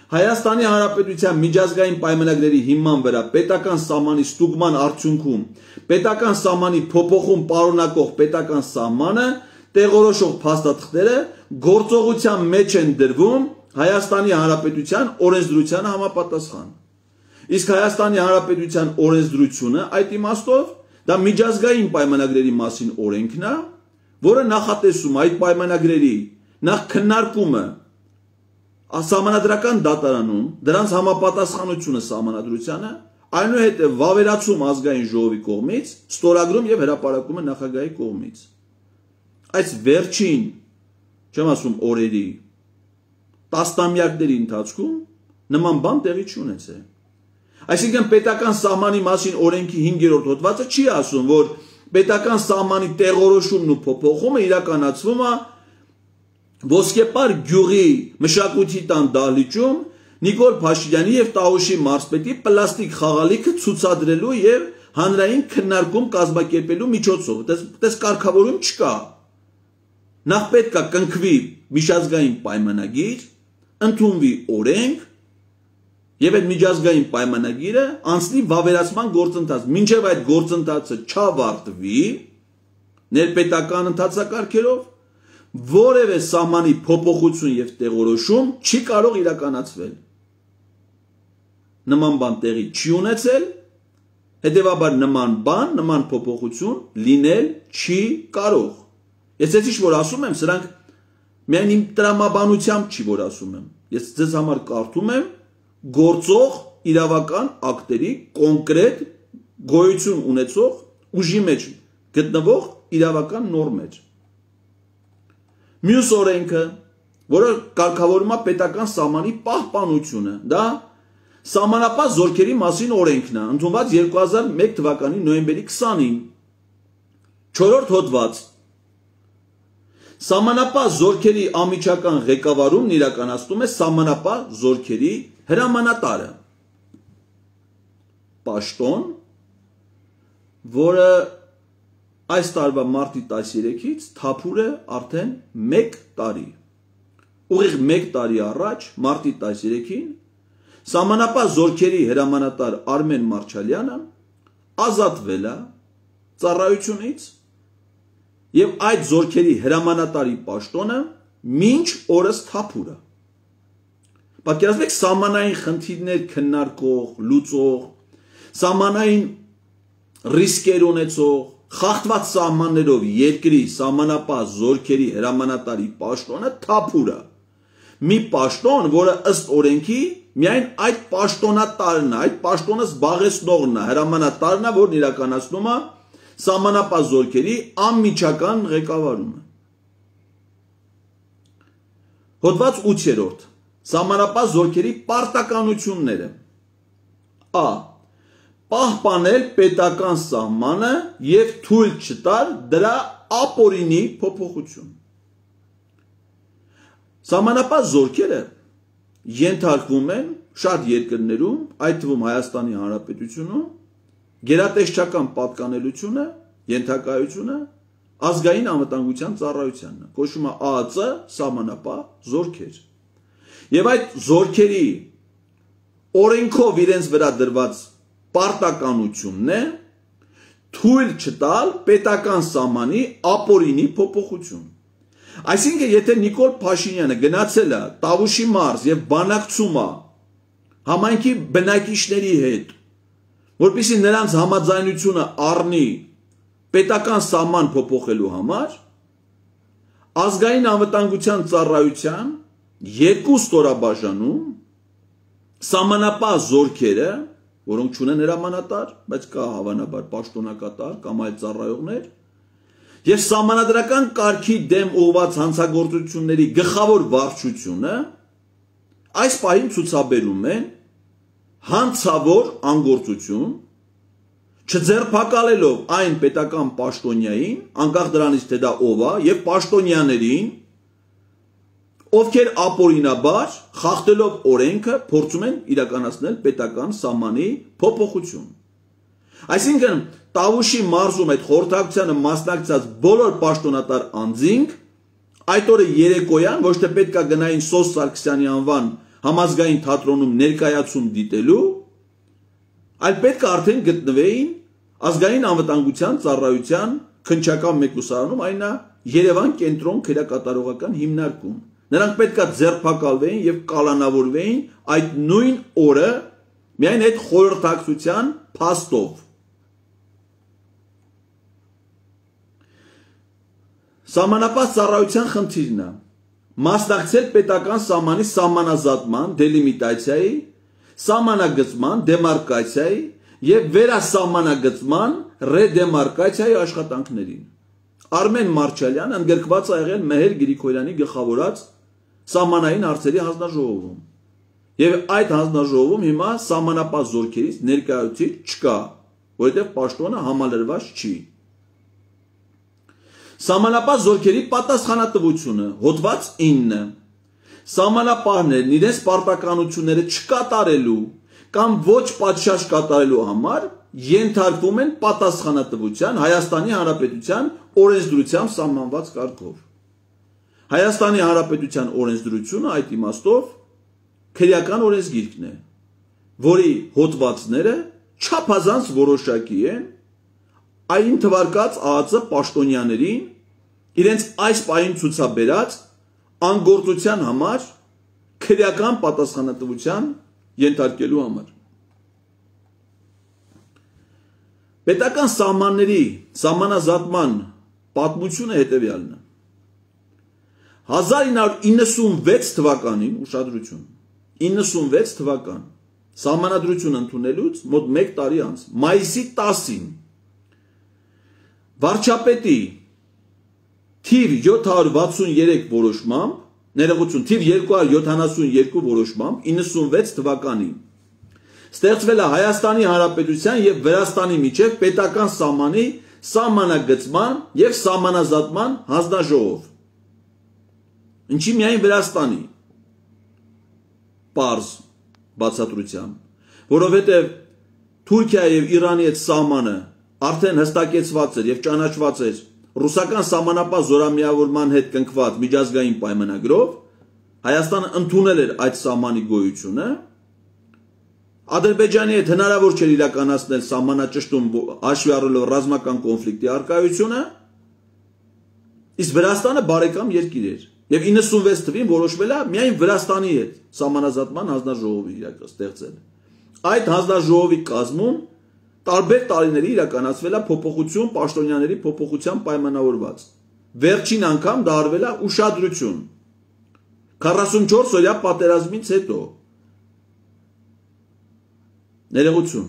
[SPEAKER 1] Հայաստանի Հանրապետության միջազգային պայմանագրերի հիման վրա պետական սահմանի ստուգման արդյունքում պետական սահմանի փոփոխում պարունակող պետական սահմանը տեղորոշող փաստաթղթերը գործողության մեջ են դրվում Հայաստանի Հանրապետության օրենսդրությանը համապատասխան։ Իսկ Հայաստանի Հանրապետության օրենսդրությունը այդ իմաստով դա միջազգային պայմանագրերի մասին օրենքն է, որը նախատեսում այդ պայմանագրերի նախ քննարկումը Սահմանադրական դատարանում դրանց համապատասխանությունը սահմանադրությանը, այնուհետև վավերացում ազգային ժողովի կողմից, ստորագրում եւ հրապարակումը նախագահի կողմից։ Այս վերջին, չեմ ասում օրերի, տասնամյակների ընթացքում նման բան տեղի չունեցել։ Այսինքն պետական սահմանի մասին օրենքի հինգերորդ հոդվածը չի ասում, որ պետական սահմանի տեղորոշումն ու փոփոխումը իրականացվում է Ոսկեպար գյուղի մշակույթի տան դահլիճում Նիկոլ Փաշինյանի եւ Տաուշի մարզպետի պլաստիկ խաղալիքը ցուցադրելու եւ հանրային քննարկում կազմակերպելու միջոցով։ Դες կարգավորում չկա։ Նախ պետք է կնքվի միջազգային պայմանագիր, ընդունվի օրենք եւ այդ միջազգային պայմանագիրը անցնի վավերացման գործընթաց։ Մինչեւ այդ գործընթացը չավարտվի ներպետական ընթացակարգերով որևէ սահմանի փոփոխություն եւ տեղորոշում չի կարող իրականացվել։ Նման բան տեղի չի ունեցել, հետեւաբար նման բան, նման փոփոխություն լինել չի կարող։ Ես էսի ինչ որ ասում եմ, սրանք միայն իմ տրամաբանությամբ չի որ ասում եմ։ Ես ձեզ համար կարդում եմ գործող իրավական ակտերի կոնկրետ գոյություն ունեցող ուժի մեջ գտնվող իրավական նորմեր։ Մյուս օրենքը, որը կարգավորում է պետական սահմանի պահպանությունը, դա սահմանապահ զորքերի մասին օրենքն է, ընդունված երկու հազար մեկ թվականի նոյեմբերի քսանին, չորրորդ հոդված։ Սահմանապահ զորքերի անմիջական ղեկավարումն իրականացնում է սահմանապահ զորքերի հրամանատարը։ Պաշտոն, որը այս տարվա մարտի տասներեքից թափուր է արդեն մեկ տարի։ Ուղիղ մեկ տարի առաջ, մարտի տասներեքին, սահմանապահ զորքերի հրամանատար Արմեն Մարչալյանը ազատվել է ծառայությունից եւ այդ զորքերի հրամանատարի պաշտոնը մինչ օրս թափուր է։ Պատկերացրեք սահմանային խնդիրներ քննարկող, լուծող, սահմանային ռիսկեր ունեցող խախտված սահմաններով երկրի սահմանապահ զորքերի հրամանատարի պաշտոնը թափուր է։ Մի պաշտոն, որը ըստ օրենքի միայն այդ պաշտոնատարն է, այդ պաշտոնը զբաղեցնողն է, հրամանատարն է, որն իրականացնում է սահմանապահ զորքերի անմիջական ղեկավարումը։ Հոդված ութերորդ Սահմանապահ զորքերի պարտականությունները։ Ա. Պահպանել պետական սահմանը եւ թույլ չտալ դրա ապօրինի փոփոխություն։ Սահմանապահ զորքերը ենթարկվում են շատ երկրներում, այդ թվում Հայաստանի Հանրապետությունում, գերատեսչական պատկանելությունը, ենթակայությունը ազգային անվտանգության ծառայությանն է, կոչվում է Ա Ծ սահմանապահ զորքեր։ Եվ այդ զորքերի օրենքով իրենց վրա դրված պարտականությունն է թույլ չտալ պետական սահմանի ապօրինի փոփոխություն։ Այսինքն, եթե Նիկոլ Փաշինյանը գնացել է Տավուշի մարզ եւ բանակցում է համայնքի բնակիչների հետ, որպեսզի նրանց համաձայնությունը առնի պետական սահման փոփոխելու համար, ազգային անվտանգության ծառայության երկու ստորաբաժանում սահմանապահ զորքերը, որոնք չունեն հրամանատար, բայց կա հավանաբար պաշտոնակատար կամ այլ ծառայողներ, եւ սահմանադրական կարգի դեմ ուղղված հանցագործությունների գլխավոր վարչությունը այս պահին ցուցաբերում են հանցավոր անգործություն, չձերբակալելով այն պետական պաշտոնյային, անկախ դրանից թե դա ով է, եւ պաշտոնյաներին, ովքեր ապօրինաբար խախտելով օրենքը փորձում են իրականացնել պետական սահմանի փոփոխություն։ Այսինքն Տավուշի մարզում այդ խորհրդակցությանը մասնակցած բոլոր պաշտոնատար անձինք այդ օրը երեկոյան ոչ թե պետք է գնային Սոս Սարգսյանի անվան համազգային թատրոնում ներկայացում դիտելու, այլ պետք է արդեն գտնվեին ազգային անվտանգության ծառայության քննչական մեկուսարանում, այն է Երևան կենտրոն քերակատարողական հիմնարկում։ Նրանք պետք է ձերբակալվեին եւ կալանավորվեին այդ նույն օրը միայն այդ խորհրդակցության փաստով։ Սահմանապահ ծառայության խնդիրն է մասնակցել պետական սահմանի սահմանազատման, դելիմիտացիայի, սահմանագծման, դեմարկացիայի եւ վերասահմանագծման, ռեդեմարկացիայի աշխատանքներին։ Արմեն Մարչալյանը ընդգրկված է եղել Մեհեր Գրիգորյանի գլխավորած սահմանային հարցերի հանձնաժողովում։ Եվ այդ հանձնաժողովում հիմա սահմանապահ զորքերից ներկայացուցիչ չկա, որովհետև պաշտոնը համալրված չի։ Սահմանապահ զորքերի պատասխանատվությունը հոդված ինը սահմանապահներն իրենց պարտականությունները չկատարելու կամ ոչ պատշաճ կատարելու համար ենթարկվում են պատասխանատվության Հայաստանի Հանրապետության օրենսդրությամբ սահմանված կարգով։ Հայաստանի Հանրապետության օրենսդրությունը այդ իմաստով քրեական օրենսգիրքն է, որի հոդվածները չափազանց որոշակի են այն թվարկած ԱԱԾ պաշտոնյաներին իրենց այս պահին ցուցաբերած անգործության համար քրեական պատասխանատվության ենթարկելու համար։ Պետական սահմանների սահմանազատման պատմությունը հետևյալն է։ հազար ինը հարյուր իննսունվեց թվականին, ուշադրություն, իննսունվեց թվական, սահմանադրություն ընդունելուց մոտ մեկ տարի անց, մայիսի տասին, վարչապետի թիվ յոթ հարյուր վաթսուներեք որոշմամբ, ներողություն, թիվ երկու հարյուր յոթանասունյոթ որոշմամբ իննսունվեց թվականին ստեղծվել է Հայաստանի Հանրապետության եւ Վրաստանի միջև պետական սահմանի սահմանագծման եւ սահմանազատման հանձնաժողով։ Ինչի միայն Վրաստանի պարզ բացատրությամբ, որովհետեւ Թուրքիայի եւ Իրանի հետ սահմանը արդեն հստակեցված էր եւ ճանաչված էր ռուսական սահմանապահ զորամիավորման հետ կնքված միջազգային պայմանագրով, Հայաստանը ընդունել էր այդ սահմանի գոյությունը, Ադրբեջանի հետ հնարավոր չէր իրականացնել սահմանաճշտում հաշվի առնելով ռազմական կոնֆլիկտի առկայությունը, իսկ Վրաստանը բարեկամ երկիր էր եւ իննսունվեց թվին որոշվել է միայն Վրաստանի հետ սահմանազատման հանձնաժողովի ստեղծել։ Այդ հանձնաժողովի կազմում տարբեր տարիների իրականացվել է փոփոխություն պաշտոնյաների փոփոխության պայմանավորված։ Վերջին անգամ դա արվել է ուշադրություն քառասունչորս օրյա պատերազմից հետո։ Ներողություն։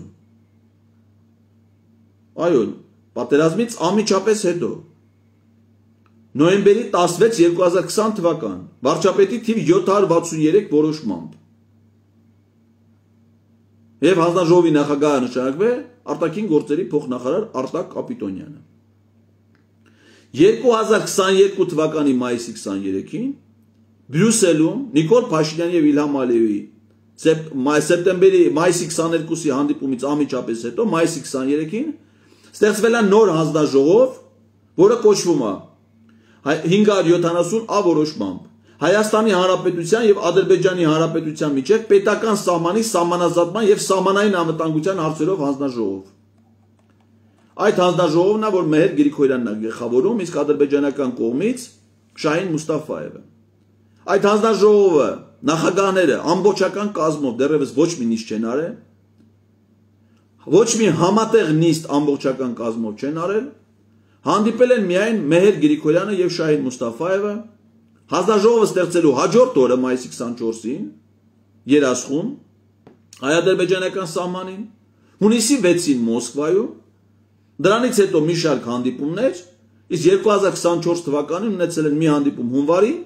[SPEAKER 1] Այո, պատերազմից անմիջապես հետո նոյեմբերի տասնվեց երկու հազար քսան թվական վարչապետի թիվ յոթ հարյուր վաթսուներեք որոշմամբ եւ հանձնաժողովի նախագահը նշանակվել արտաքին գործերի փոխնախարար Արտակ Կապիտոնյանը։ երկու հազար քսաներկու թվականի մայիսի քսաներեքին Բրյուսելում Նիկոլ Փաշինյանի եւ Իլհամ Ալիևի սեպտեմբերի մայիսի քսաներկուսի հանդիպումից անմիջապես հետո մայիսի քսաներեքին ստեղծվել է նոր հանձնաժողով, որը կոչվում է հինգ հարյուր յոթանասուն ա որոշմամբ Հայաստանի Հանրապետության եւ Ադրբեջանի Հանրապետության միջև պետական սահմանի սահմանազատման եւ սահմանային անվտանգության հարցերով հանձնաժողով։ Այդ հանձնաժողովն է, որ Մեհեր Գրիգորյանն է գլխավորում, իսկ ադրբեջանական կողմից Շահին Մուստաֆաևը։ Այդ հանձնաժողովը նախագահները ամբողջական կազմով դեռևս ոչ մի նիստ չեն արել, ոչ մի համատեղ նիստ ամբողջական կազմով չեն արել, հանդիպել են միայն Մեհեր Գրիգորյանը եւ Շահին Մուստաֆաևը, հանձնաժողովը ստեղծելու հաջորդ օրը մայիսի քսանչորսին Երասխում, հայ-ադրբեջանական սահմանին, հունիսի վեցին Մոսկվայում, դրանից հետո մի շարք հանդիպումներ, իսկ երկու հազար քսանչորս թվականին ունեցել են մի հանդիպում հունվարին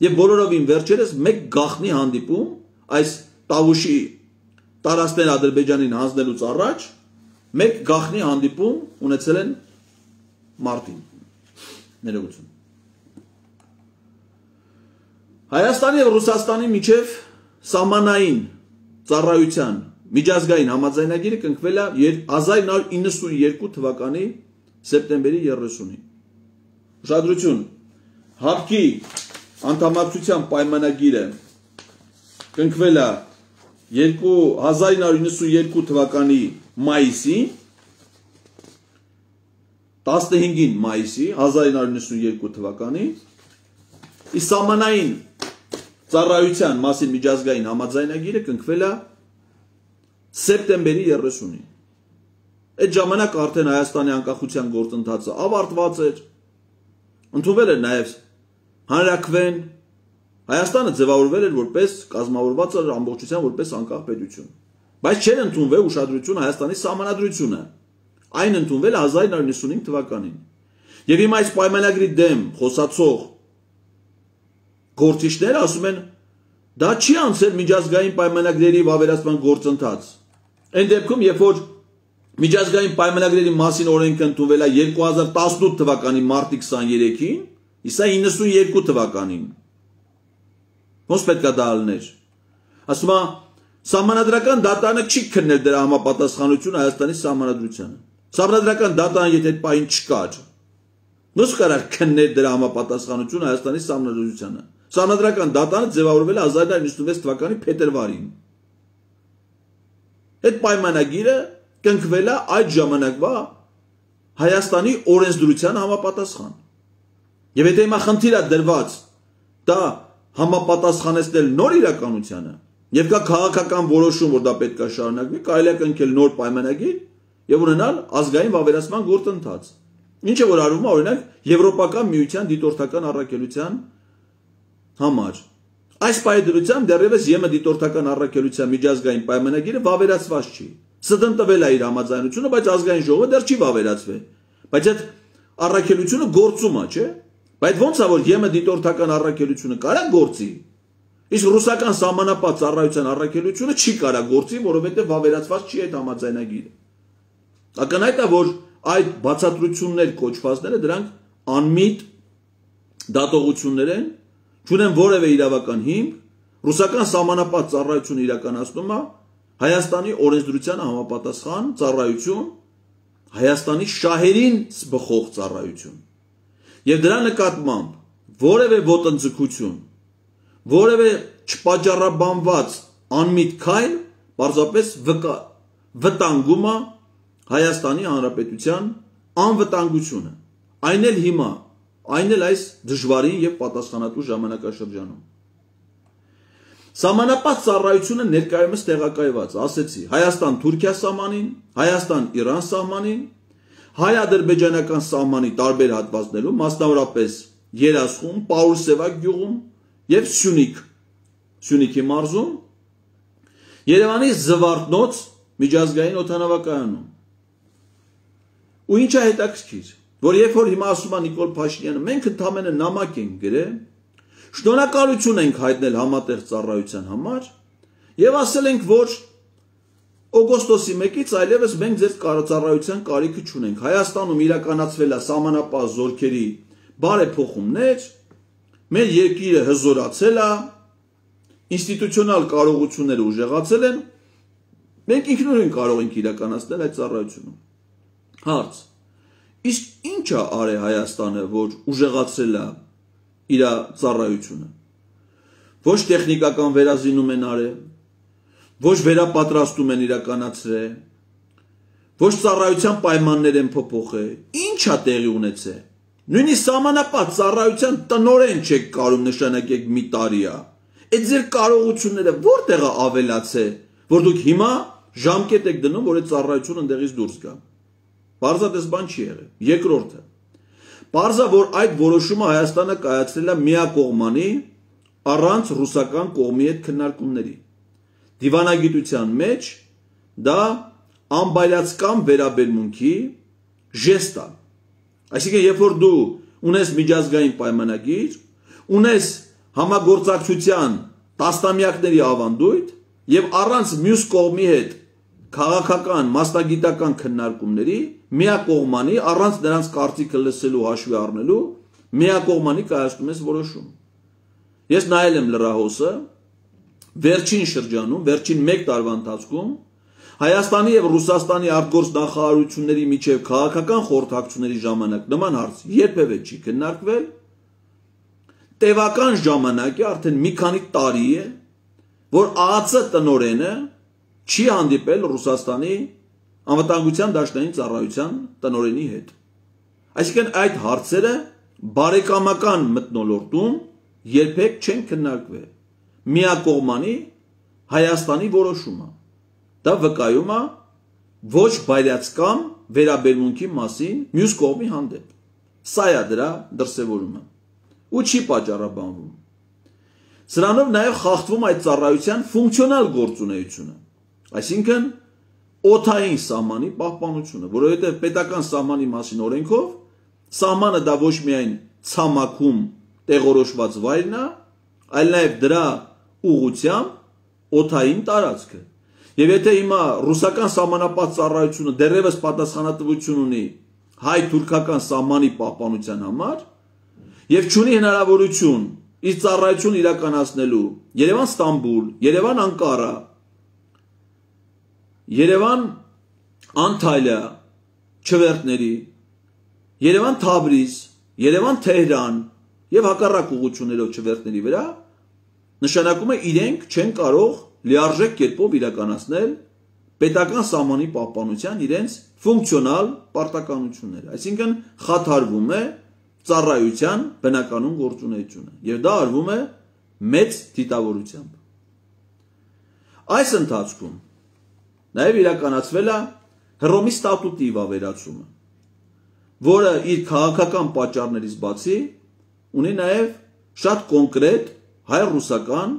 [SPEAKER 1] եւ բոլորովին վերջերս մեկ գաղտնի հանդիպում այս Տավուշի տարածքներ Ադրբեջանին հանձնելուց առաջ մեկ գաղտնի հանդիպում ունեցել են մարտին։ Ներողություն։ Հայաստանի եւ Ռուսաստանի միջև սահմանային ծառայության միջազգային համաձայնագիրը կնքվել է հազար նոր իննսունյոթ թվականի սեպտեմբերի երեսունին։ Ուշադրություն, ՀԱՊԿ-ի անդամակցության պայմանագիրը կնքվել է հազար նոր իննսունյոթ թվականի մայիսին, տասնհինգին մայիսի հազար նոր իննսունյոթ թվականի, իսկ սահմանային ծառայության մասին միջազգային համաձայնագիրը կնքվել է սեպտեմբերի երեսունին։ Այդ ժամանակ արդեն Հայաստանի անկախության գործընթացը ավարտված էր, ընդունվել էր նաև հանրաքվեն, Հայաստանը ձևավորվել էր որպես կազմավորված էր ամբողջությամբ որպես անկախ պետություն, բայց չէր ընդունվել ուշադրություն Հայաստանի սահմանադրությունը, այն ընդունվել է հազար նոր իննսունհինգ թվականին։ Եվ հիմա այս պայմանագրի դեմ խոսացող գործիչները ասում են, դա չի անցել միջազգային պայմանագրերի վավերացման գործընթաց։ Այն դեպքում, երբ որ միջազգային պայմանագրերի մասին օրենքը ընդունվել է երկու հազար տասնութ թվականի մարտի քսաներեքին, իսկ իննսունյոթ թվականին։ Ոնց պետք է դա ալներ։ Ասում է, սահմանադրական դատարանը չի քննել դրա համապատասխանությունը Հայաստանի սահմանադրությանը։ Սահմանադրական դատարան եթե այդ պահին չկար, ոնց կարար քննել դրա համապատասխանությունը Հայաստանի սահմանադրությանը։ Սահմանադրական դատարանը ձևավորվել է հազար նոր իննսունվեց թվականի փետրվարին։ Այդ պայմանագիրը կնքվել է այդ ժամանակվա Հայաստանի օրենսդրության համապատասխան։ Եվ եթե հիմա խնդիր է դրված դա համապատասխանեցնել նոր իրականությանը, եւ կա քաղաքական որոշում, որ դա պետք է շարունակվի, կարելի է կնքել նոր պայմանագիր եւ ունենալ ազգային վավերացման գործընթաց։ Ինչը որ արվում է օրինակ Եվրոպական միության դիտորդական առաքելության համար։ Այս պայմանագրությամբ դեռևս ԵՄ դիտորդական առաքելության միջազգային պայմանագիրը վավերացված չի։ ՍԴ-ն տվել է իր համաձայնությունը, բայց ազգային ժողովը դեռ չի վավերացվել։ Բայց այդ առաքելությունը գործում է, չէ՞։ Բայց ո՞նց է որ ԵՄ դիտորդական առաքելությունը կարա գործի։ Իսկ ռուսական սահմանապատ ծառայության առաքելությունը չի կարա գործի, որովհետև վավերացված չի այդ համաձայնագիրը։ Ակնհայտ է, որ այդ բացատրություններ կոչվածները դրանք անմիտ դատողություններ են, չունեն որևէ իրավական հիմք, ռուսական սահմանապատ ծառայությունը իրականացնում է Հայաստանի օրենսդրությանը համապատասխան ծառայություն, Հայաստանի շահերին բխող ծառայություն։ Եվ դրա նկատմամբ որևէ ոտնձգություն, որևէ չպատճառաբանված անմիտ քայլ պարզապես վտանգում է Հայաստանի Հանրապետության անվտանգությունը, այն էլ հիմա, այն էլ այս դժվարին եւ պատասխանատու ժամանակաշրջանում։ Սահմանապատ ծառայությունը ներկայումս տեղակայված, ասեցի, Հայաստան-Թուրքիա սահմանին, Հայաստան-Իրան սահմանին, հայ-ադրբեջանական սահմանի տարբեր հատվածներում, մասնավորապես Երասխում, Պաուլսևա գյուղում եւ Սյունիք, Սյունիքի մարզում, Երևանի Զվարթնոց միջազգային օդանավակայանում։ Ու ինչ է հետաքրքիր, որ երբ որ հիմա ասում է Նիկոլ Փաշինյանը, մենք ընդամենը նամակ ենք գրել, շնորհակալություն ենք հայտնել համատեղ ծառայության համար եւ ասել ենք, որ օգոստոսի մեկից այլևս մենք ձեր ծառայության կարիքը չունենք։ Հայաստանում իրականացվել է սահմանապահ զորքերի բարեփոխումներ, մեր երկիրը հզորացել է, ինստիտուցիոնալ կարողությունները ուժեղացել են, մենք ինքնուրույն կարող ենք իրականացնել այդ ծառայությունը։ Հարց. իսկ ինչ է արել Հայաստանը, որ ուժեղացրել է իր ծառայությունը։ Ոչ տեխնիկական վերազինում են արել, ոչ վերապատրաստում են իրականացրել, ոչ ծառայության պայմաններ են փոփոխել։ Ինչ է տեղի ունեցել։ Նույնիսկ սահմանապատ ծառայության տնօրեն չեք կարող նշանակեք մի տարի է։ Այդ ձեր կարողությունները որտեղ է ավելացել, որ դուք հիմա ժամկետ եք դնում, որ այդ ծառայությունը ընդեղից դուրս գա։ Պարզապես բան չի եղել։ Երկրորդը։ Պարզա, որ այդ որոշումը Հայաստանը կայացրել է միակողմանի առանց ռուսական կողմի հետ քննարկումների։ Դիվանագիտության մեջ դա անբայլացկամ վերաբերմունքի ժեստ է։ Այսինքն, երբ որ դու ունես միջազգային պայմանագիր, ունես համագործակցության տասնամյակների ավանդույթ եւ առանց մյուս կողմի հետ քաղաքական, մասնագիտական քննարկումների միակողմանի առանց նրանց կարծիքը լսելու հաշվի առնելու միակողմանի կայացնում ես որոշում։ Ես նայել եմ լրահոսը վերջին շրջանում, վերջին մեկ տարվա ընթացքում Հայաստանի եւ Ռուսաստանի արտգործ նախարարությունների միջև քաղաքական խորհրդակցությունների ժամանակ նման հարց երբևէ չի քննարկվել։ Տևական ժամանակ է, արդեն մի քանի տարի է, որ ԱԱՑ տնօրենը չի հանդիպել Ռուսաստանի անվտանգության դաշնային ծառայության տնօրենի հետ։ Այսինքն այդ հարցերը բարեկամական մթնոլորտում երբեք չեն քննարկվել։ Միակողմանի Հայաստանի որոշումը։ Դա վկայում է ոչ բայրացկամ վերաբերմունքի մասին մյուս կողմի հանդեպ։ Սա է դրա դրսևորումը։ Ու չի պատճառաբանվում։ Սրանով նաև խախտվում այդ ծառայության ֆունկցիոնալ գործունեությունը։ Այսինքն օդային սահմանի պահպանությունը, որովհետև պետական սահմանի մասին օրենքով սահմանը դա ոչ միայն ցամաքում տեղորոշված վայրն է, այլ նաև դրա ուղղությամբ օդային տարածքը։ Եվ եթե հիմա ռուսական սահմանապահ ծառայությունը դեռևս պատասխանատվություն ունի հայ-թուրքական սահմանի պահպանության համար եւ չունի հնարավորություն իր ծառայություն իրականացնելու Երևան-Ստամբուլ, Երևան-Անկարա, Երևան-Անտալիա չվերթների, Երևան-Թավրիզ, Երևան-Թեհրան եւ հակառակ ուղղություններով չվերթների վրա, նշանակում է իրենք չեն կարող լիարժեք կերպով իրականացնել պետական սահմանի պահպանության իրենց ֆունկցիոնալ պարտականությունները, այսինքն խաթարվում է ծառայության բնականon գործունեությունը եւ դա արվում է մեծ դիտավորությամբ։ Այս ընթացքում նաեւ իրականացվել է Հռոմի ստատուտի վավերացումը, որը իր քաղաքական պատճառներից բացի ունի նաեւ շատ կոնկրետ հայ-ռուսական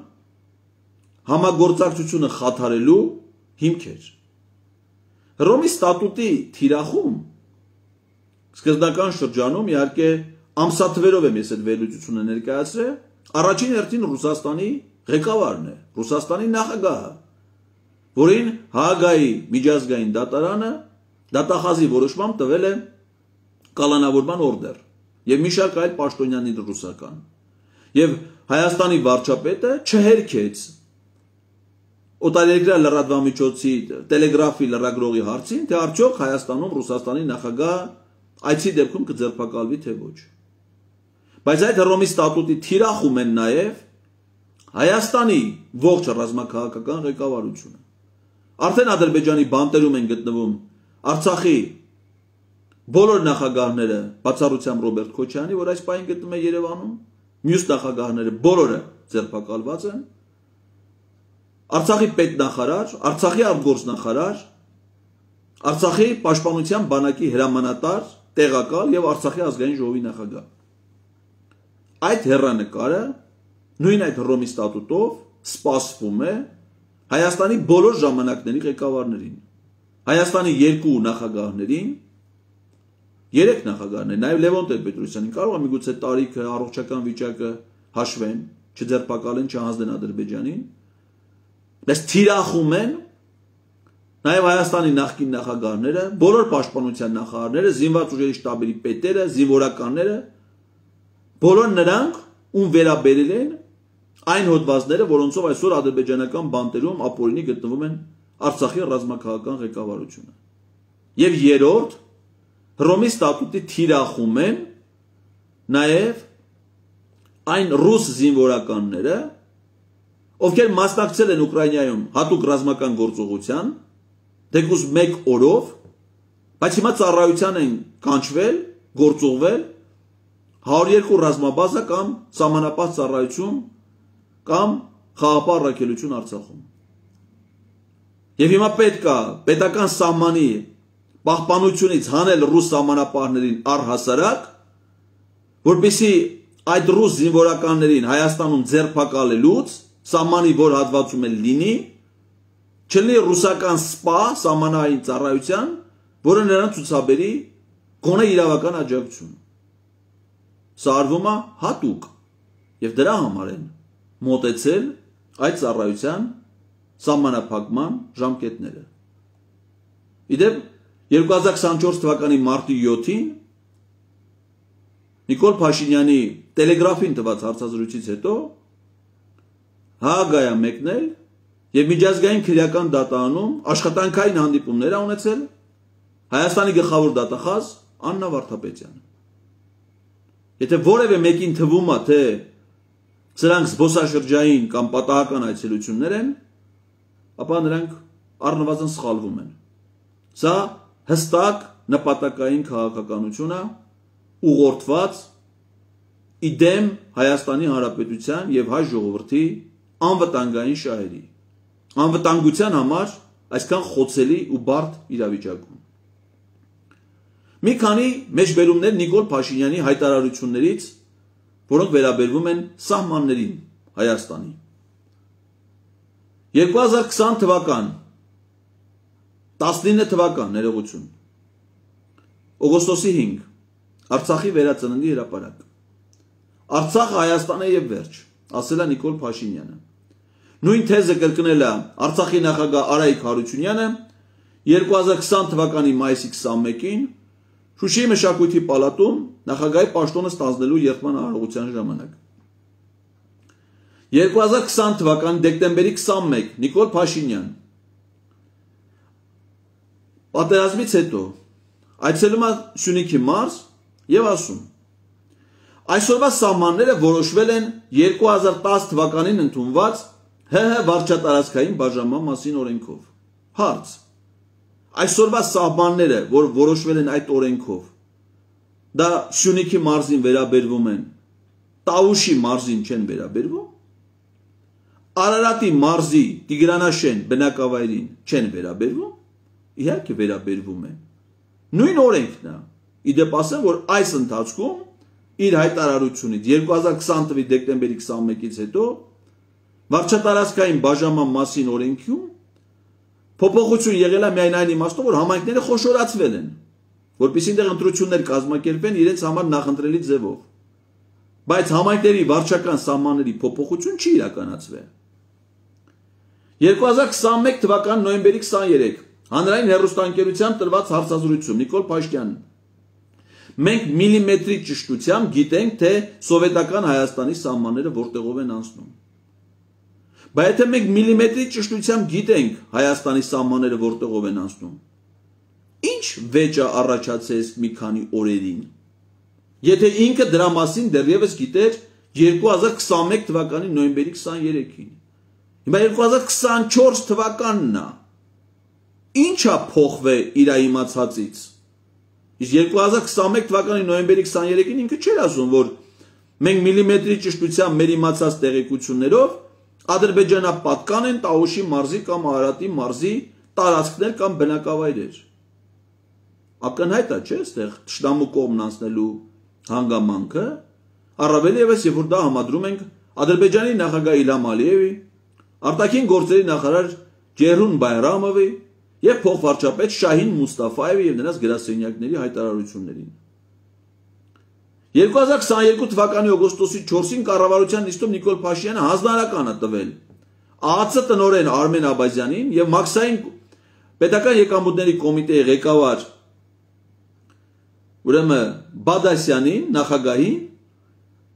[SPEAKER 1] համագործակցությունը խաթարելու հիմքեր։ Հռոմի ստատուտի թիրախում սկզբնական շրջանում իհարկե ամսաթվերով եմ ես այդ վերլուծությունը ներկայացրել, առաջին հերթին Ռուսաստանի ղեկավարն է, Ռուսաստանի նախագահը, որին Հաագայի միջազգային դատարանը դատախազի որոշմամբ տվել է կալանավորման օրդեր եւ մի շարք այլ պաշտոնյաների ռուսական։ Եվ Հայաստանի վարչապետը չհերքեց օտարերկրյա լրատվամիջոցի տելեգրաֆի լրագրողի հարցին, թե արդյոք Հայաստանում Ռուսաստանի նախագահ այցի դեպքում կձերբակալվի թե ոչ։ Բայց այդ Հռոմի ստատուտի թիրախում են նաև Հայաստանի ողջ ռազմաքաղաքական ղեկավարությունը։ Արդեն Ադրբեջանի բանտերում են գտնվում Արցախի բոլոր նախագահները, բացառությամբ Ռոբերտ Քոչյանի, որ այս պահին գտնվում է Երևանում, մյուս նախագահները բոլորը ձերբակալված են։ Արցախի պետնախարար, Արցախի արտգործնախարար, Արցախի պաշտպանության բանակի հրամանատար, տեղակալ եւ Արցախի ազգային ժողովի նախագահ։ Այդ հեռանկարը նույն այդ Հռոմի ստատուտով սպասվում է Հայաստանի բոլոր ժամանակների ղեկավարներին, Հայաստանի երկու նախագահներին, երեք նախագահներ, նաեւ Լևոն Տեր-Պետրոսյանին, կարող է միգուցե տարիքը, առողջական վիճակը հաշվեն, չձերբակալեն, չհանձնեն Ադրբեջանին, բայց թիրախում են նաեւ Հայաստանի նախկին նախագահները, բոլոր պաշտպանության նախարարները, զինված ուժերի շտաբերի պետերը, զինվորականները, բոլոր նրանք, ում վերաբերել են այն հոդվածները, որոնցով այսօր ադրբեջանական բանտերում ապօրինի գտնվում են Արցախի ռազմաքաղաքական ղեկավարությունը։ Եվ երրորդ, Հռոմի ստատուտի թիրախում են նաև այն ռուս զինվորականները, ովքեր մասնակցել են Ուկրաինայում հատուկ ռազմական գործողության, դեպուս մեկ օրով, բայց հիմա ծառայության են կանչվել, գործուղվել հարյուր երկու ռազմաբազա կամ սահմանապահ ծառայություն կամ խաղապահ առաքելություն Արցախում։ Եվ հիմա պետք է պետական սահմանի պահպանությունից հանել ռուս սահմանապահներին առհասարակ, որպեսզի այդ ռուս զինվորականներին Հայաստանում ձերբակալելուց սահմանի որ հատվածում էլ լինի, չլինի ռուսական սպա սահմանային ծառայության, որը նրան ցուցաբերի գոնե իրավական աջակցություն։ Սա արվում է հատուկ եւ դրա համար են մոտեցել այդ ծառայության սահմանափակման ժամկետները։ Իդեպ երկու հազար քսանչորս թվականի մարտի յոթին Նիկոլ Փաշինյանի տելեգրաֆին տված հարցազրույցից հետո Հաագայա մեկնել եւ միջազգային քրեական դատարանում աշխատանքային հանդիպումներ ա ունեցել Հայաստանի գլխավոր դատախազ Աննա Վարդապետյանը։ Եթե որևէ մեկին թվում է, թե սրանք զբոսաշրջային կամ պատահական այցելություններ են, ապա նրանք առնվազն սխալվում են։ Սա հստակ նպատակային քաղաքականություն է, ուղղորդված իդեմ Հայաստանի Հանրապետության եւ հայ ժողովրդի անվտանգային շահերի, անվտանգության համար այսքան խոցելի ու բարդ իրավիճակում։ Մի քանի մեջբերումներ Նիկոլ Փաշինյանի հայտարարություններից, որոնք վերաբերվում են սահմաններին Հայաստանի։ երկու հազար քսան թվական, տասնինը թվական ներողություն, օգոստոսի հինգ, Արցախի վերածննդի հրապարակ։ Արցախը Հայաստան է եւ վերջ, ասել է Նիկոլ Փաշինյանը։ Նույն թեզը կրկնել է Արցախի նախագահ Արայիկ Հարությունյանը երկու հազար քսան թվականի մայիսի քսանմեկին Շուշիի մշակույթի պալատում նախագահի պաշտոնը ստանձնելու երդման արարողության ժամանակ։ երկու հազար քսան թվականի դեկտեմբերի քսանմեկը Նիկոլ Փաշինյան պատերազմից հետո այցելում է Սյունիքի մարզ եւ ասում. Այսօրվա սահմանները որոշվել են երկու հազար տասը թվականին ընդունված ՀՀ վարչատարածքային բաժանման մասին օրենքով։ Հարց. Այսօրվա սահմանները, որ որոշվել են այդ օրենքով, դա Սյունիքի մարզին վերաբերվում են, Տավուշի մարզին չեն վերաբերվում, Արարատի մարզի Տիգրանաշեն բնակավայրին չեն վերաբերվում, իհարկե վերաբերվում են։ Նույն օրենքն է, իդեպ ասեմ, որ այս ընթացքում իր հայտարարությունից երկու հազար քսան թվականի դեկտեմբերի քսանմեկից հետո վարչատարածքային բաժանման մասին օրենքում փոփոխություն եղել է միայն այն իմաստով, որ համայնքները խոշորացվել են, որպեսզի այնտեղ ընտրություններ կազմակերպեն իրենց համար նախընտրելի ձևով։ Բայց համայնքների վարչական սահմանների փոփոխություն չի իրականացվել։ երկու հազար քսանմեկ թվականի նոյեմբերի քսաներեքը հանրային հեռուստաընկերությամբ տրված հարցազրույցում Նիկոլ Փաշինյանը. Մենք միլիմետրի ճշտությամբ գիտենք, թե սովետական Հայաստանի սահմանները որտեղով են անցնում։ Բայց եթե մենք միլիմետրի ճշտությամբ գիտենք Հայաստանի սահմանները որտեղով են անցնում, ինչ վեճ է առաջացել մի քանի օրերին, եթե ինքը դրա մասին դեռևս գիտեր երկու հազար քսանմեկ թվականի նոյեմբերի քսաներեքին։ Հիմա երկու հազար քսանչորս թվականն է, ինչ է փոխվել իր իմացածից։ Իսկ երկու հազար քսանմեկ թվականի նոյեմբերի քսաներեքին ինքը չէր ասում, որ մենք միլիմետրի ճշտությամբ մեր իմացած տեղեկություններով ադրբեջանապատկան են Տավուշի մարզի կամ Արարատի մարզի տարածքներ կամ բնակավայրեր։ Ակնհայտ է, չէ՞, այստեղ թշնամու կողմն անցնելու հանգամանքը, առավել ևս, երբ որ դա համադրում ենք Ադրբեջանի նախագահ Իլհամ Ալիևի, արտաքին գործերի նախարար Ջեհրուն Բայրամովի եւ փոխվարչապետ Շահին Մուստաֆայևի եւ նրանց գրասենյակների հայտարարություններին։ երկու հազար քսաներկու թվականի օգոստոսի չորսին կառավարության նիստում Նիկոլ Փաշինյանը հանձնարարական է տվել ԱԱՑ տնօրեն Արմեն Աբազյանին եւ Մաքսային պետական եկամուտների կոմիտեի ղեկավար ուրեմն Բադասյանին, նախագահին,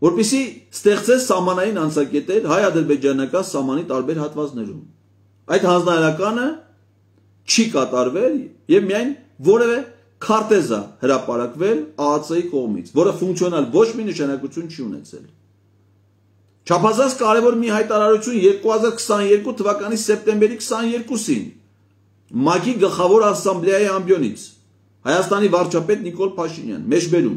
[SPEAKER 1] որպեսզի ստեղծեն սահմանային անցակետեր հայ-ադրբեջանական սահմանի տարբեր հատվածներում։ Այդ հանձնարարականը չի կատարվել եւ միայն որևէ քարտեզ է հրապարակվել ԱԱՑ-ի կողմից, որը ֆունկցիոնալ ոչ մի նշանակություն չի ունեցել։ Չափազանց կարևոր մի հայտարարություն երկու հազար քսաներկու թվականի սեպտեմբերի քսաներկուսին ՄԱԿ-ի գլխավոր ասամբլեայի ամբիոնից Հայաստանի վարչապետ Նիկոլ Փաշինյան մեջբերում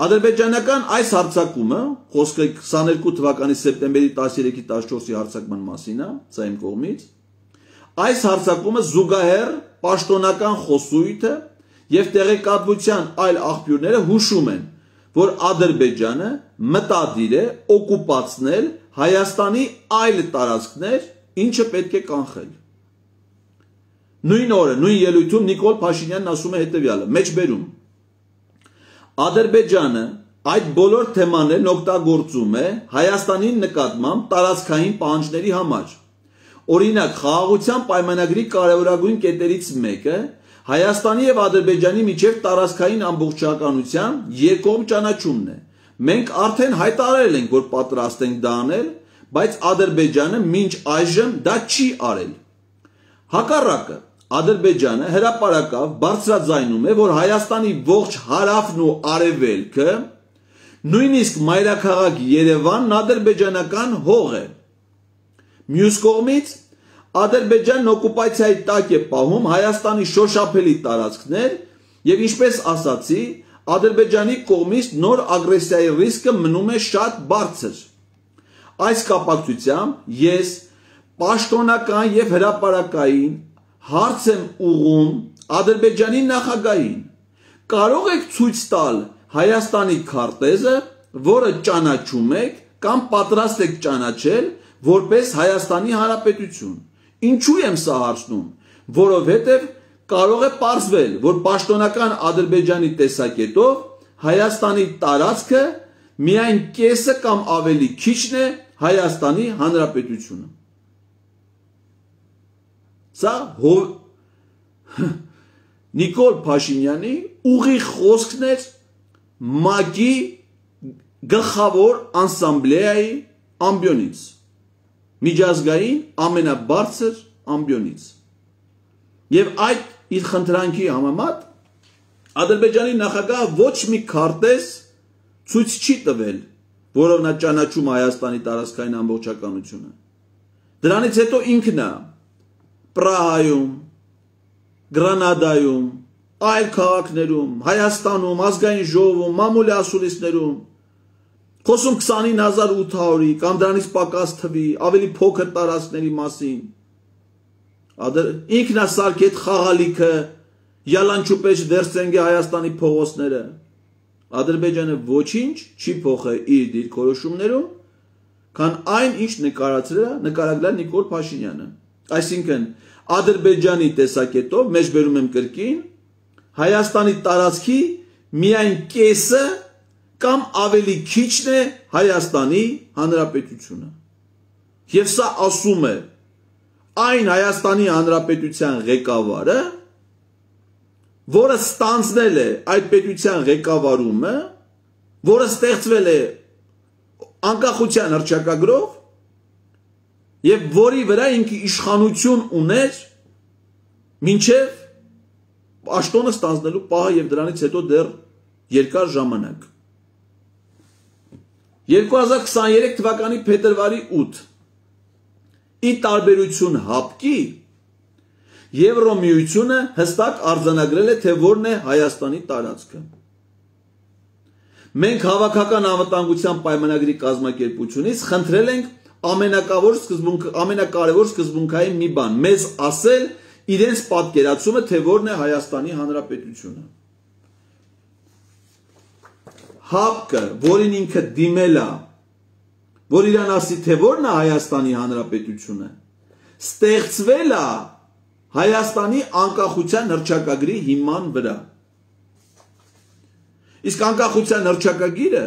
[SPEAKER 1] ադրբեջանական այս հարձակումը, խոսքը քսաներկու թվականի սեպտեմբերի տասներեքի տասնչորսի հարձակման մասին է, սա իմ կողմից, այս հարձակումը զուգահեռ պաշտոնական խոսույթը եւ տեղեկատվության այլ աղբյուրները հուշում են, որ Ադրբեջանը մտադիր է օկուպացնել Հայաստանի այլ տարածքներ, ինչը պետք է կանխել։ Նույն օրը, նույն ելույթում Նիկոլ Փաշինյանն ասում է հետևյալը. մեջբերում Ադրբեջանը այդ բոլոր թեմաներն օգտագործում է Հայաստանի նկատմամբ տարածքային պահանջների համար։ Օրինակ, խաղաղության պայմանագրի կարևորագույն կետերից մեկը Հայաստանի եւ Ադրբեջանի միջև տարածքային ամբողջականության երկկողմ ճանաչումն է։ Մենք արդեն հայտարարել ենք, որ պատրաստ ենք դա անել, բայց Ադրբեջանը մինչ այժմ դա չի արել։ Հակառակը, Ադրբեջանը հրապարակավ բարձրաձայնում է, որ Հայաստանի ողջ հարավն ու արևելքը, նույնիսկ մայրաքաղաք Երևանն ադրբեջանական հող է։ Մյուս կողմից Ադրբեջանն օկուպացիայի տակ է պահում Հայաստանի շոշափելի տարածքներ եւ ինչպես ասացի, Ադրբեջանի կողմից նոր ագրեսիայի ռիսկը մնում է շատ բարձր։ Այս կապակցությամբ ես պաշտոնական եւ հրապարակային հարց եմ ուղղում Ադրբեջանի նախագահին։ Կարող եք ցույց տալ Հայաստանի քարտեզը, որը ճանաչում եք կամ պատրաստ եք ճանաչել որպես Հայաստանի Հանրապետություն։ Ինչու եմ սա հարցնում, որովհետև կարող է պարզվել, որ պաշտոնական Ադրբեջանի տեսակետով Հայաստանի տարածքը միայն կեսը կամ ավելի քիչն է Հայաստանի Հանրապետությունը։ Սա հով Նիկոլ Փաշինյանի ուղիղ խոսքն էր ՄԱԿ-ի գլխավոր ասամբլեայի ամբիոնից, միջազգային ամենաբարձր ամբիոնից։ Եվ այդ իր խնդրանքի համեմատ Ադրբեջանի նախագահը ոչ մի քարտեզ ցույց չի տվել, որով նա ճանաչում Հայաստանի տարածքային ամբողջականությունը։ Դրանից հետո ինքն է Պրահայում, Գրանադայում, այլ քաղաքներում, Հայաստանում, ազգային ժողովում, մամուլի ասուլիսներում խոսում քսանինը հազար ութ հարյուրի կամ դրանից պակաս թվի, ավելի փոքր տարածքների մասին։ Ինքն է սարքեց խաղալիքը, յալանչուպեչ վերցնենք Հայաստանի փողոցները։ Ադրբեջանը ոչինչ չի փոխել իր դիրքորոշումներում, քան այն, ինչ նկարագրել է Նիկոլ Փաշինյանը։ Այսինքն, Ադրբեջանի տեսակետով, մեջ բերում եմ կրկին, Հայաստանի տարածքի միայն կեսը կամ ավելի քիչն է Հայաստանի Հանրապետությունը։ Եվ սա ասում է այն Հայաստանի Հանրապետության ղեկավարը, որը ստանձնել է այդ պետության ղեկավարումը, որը ստեղծվել է անկախության հռչակագրով եւ որի վրա ինքը իշխանություն ուներ մինչեւ պաշտոնը ստանձնելու պահը եւ դրանից հետո դեռ երկար ժամանակ։ երկու հազար քսաներեք թվականի փետրվարի ութ ի տարբերություն ՀԱՊԿ-ի Եվրոմիությունը հստակ արձանագրել է, թե որն է Հայաստանի տարածքը։ Մենք հավաքական անվտանգության պայմանագրի կազմակերպությունից խնդրել ենք ամենակարևոր սկզբունք, ամենակարևոր սկզբունքային մի բան, մեզ ասել իրենց պատկերացումը, թե որն է Հայաստանի Հանրապետությունը։ ՀԱՊԿ-ը, որին ինքը դիմել է, որ իրան ասի, թե որն է Հայաստանի Հանրապետությունը, ստեղծվել է Հայաստանի անկախության հռչակագրի հիման վրա։ Իսկ անկախության հռչակագիրը,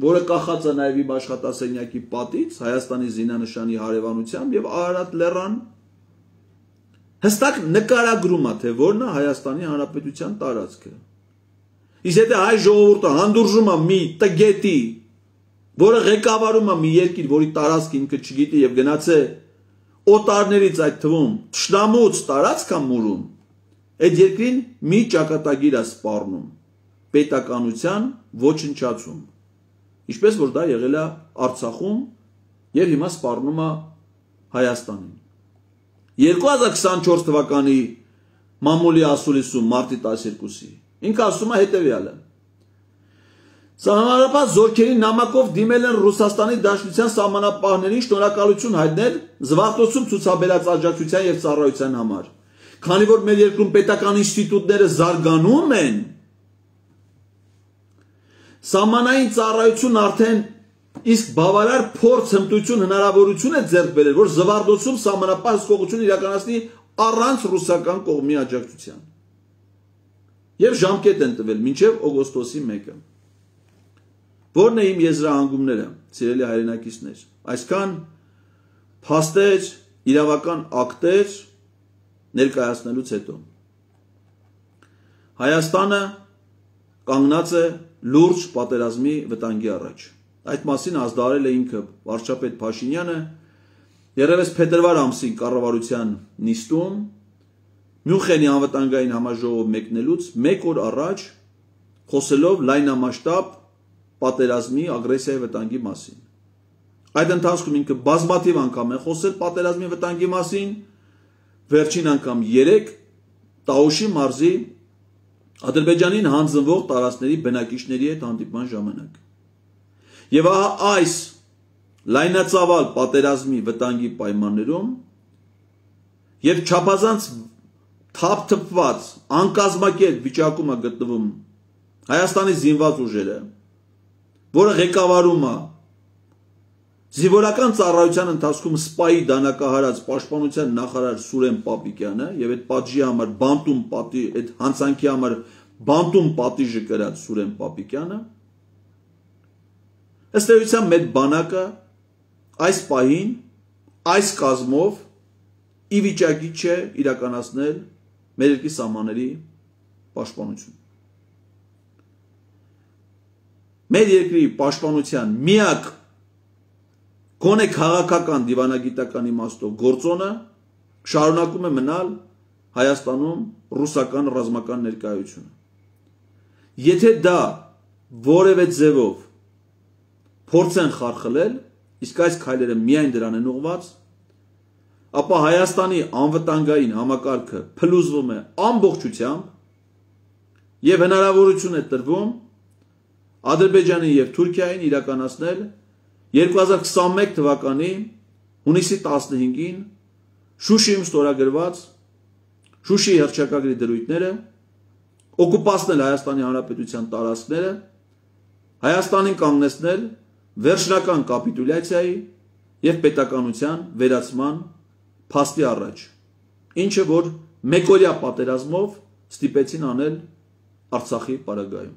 [SPEAKER 1] որը կախած է նաև իմ աշխատասենյակի պատից, Հայաստանի զինանշանի հարևանությամբ եւ Արարատ լեռան, հստակ նկարագրում է, թե որն է Հայաստանի Հանրապետության տարածքը։ Իսկ եթե հայ ժողովուրդը հանդուրժում է մի տգետի, որը ղեկավարում է մի երկիր, որի տարածքը ինքը չգիտի եւ գնաց է օտարներից այդ թվում թշնամուց տարածք է մուրում, այդ երկրին մի ճակատագիր է սպառնում, պետականության ոչնչացում, ինչպես որ դա եղել է Արցախում եւ հիմա սպառնում է Հայաստանին։ երկու հազար քսանչորս թվականի մամուլի ասուլիսում մարտի տասներկուսի ինքը ասում է հետեւյալը. Սահմանապահ զորքերի նամակով դիմել են Ռուսաստանի Դաշնության սահմանապահներին շնորհակալություն հայտնել զվարթոցում ցուցաբերած աջակցության եւ ծառայության համար։ Քանի որ մեր երկրում պետական ինստիտուտները զարգանում են, սահմանային ծառայությունն արդեն իսկ բավարար փորձ, հմտություն, հնարավորություն է ձեռք բերել, որ զվարթոցում սահմանապահ հսկողություն իրականացնի առանց ռուսական կողմի աջակցության։ Եվ ժամկետ են տվել մինչև օգոստոսի մեկը։ Որն է իմ եզրահանգումները, սիրելի հայրենակիցներ, այսքան փաստեր, իրավական ակտեր ներկայացնելուց հետո։ Հայաստանը կանգնած է լուրջ պատերազմի վտանգի առաջ։ Այդ մասին ազդարել է ինքը վարչապետ Փաշինյանը երևս փետրվար ամսին կառավարության նիստում Մյունխենի անվտանգային համաժողով մեկնելուց մեկ օր առաջ խոսելով լայնամասշտաբ պատերազմի ագրեսիայի վտանգի մասին։ Այդ ընթացքում ինքը բազմաթիվ անգամ է խոսել պատերազմի վտանգի մասին, վերջին անգամ երեք Տաուշի մարզի Ադրբեջանին հանձնվող տարածքների բնակիչների հետ հանդիպման ժամանակ։ Եվ ահա այս լայնածավալ պատերազմի վտանգի պայմաններում եւ չափազանց թափթփված անկազմակերպ վիճակում է գտնվում Հայաստանի զինված ուժերը, որը ղեկավարում է զինվորական ծառայության ընթացքում սպայի դանակահարած պաշտպանության նախարար Սուրեն Պապիկյանը եւ այդ պատժի համար բանտում պատի այդ հանցանքի համար բանտում պատիժը կրած Սուրեն Պապիկյանը ըստ էության մեր բանակը այս պահին այս կազմով ի վիճակի չէ իրականացնել մեր երկրի սահմանների պաշտպանություն։ Մեր երկրի պաշտպանության միակ գոնե քաղաքական դիվանագիտական իմաստով գործոնը շարունակում է մնալ Հայաստանում ռուսական ռազմական ներկայությունը։ Եթե դա որևէ ձևով փորձեն խարխլել, իսկ այս քայլերը միայն դրան են ուղղված, ապա Հայաստանի անվտանգային համակարգը փլուզվում է ամբողջությամբ եւ հնարավորություն է տրվում Ադրբեջանին եւ Թուրքիային իրականացնել երկու հազար քսանմեկ թվականի հունիսի տասնհինգին Շուշիում ստորագրված Շուշիի հռչակագրի դրույթները, օկուպացնել Հայաստանի Հանրապետության տարածքները, Հայաստանին կանգնեցնել վերջնական կապիտուլյացիայի եւ պետականության վերացման փաստի առաջ, ինչը որ մեկօրյա պատերազմով ստիպեցին անել Արցախի պարագայում։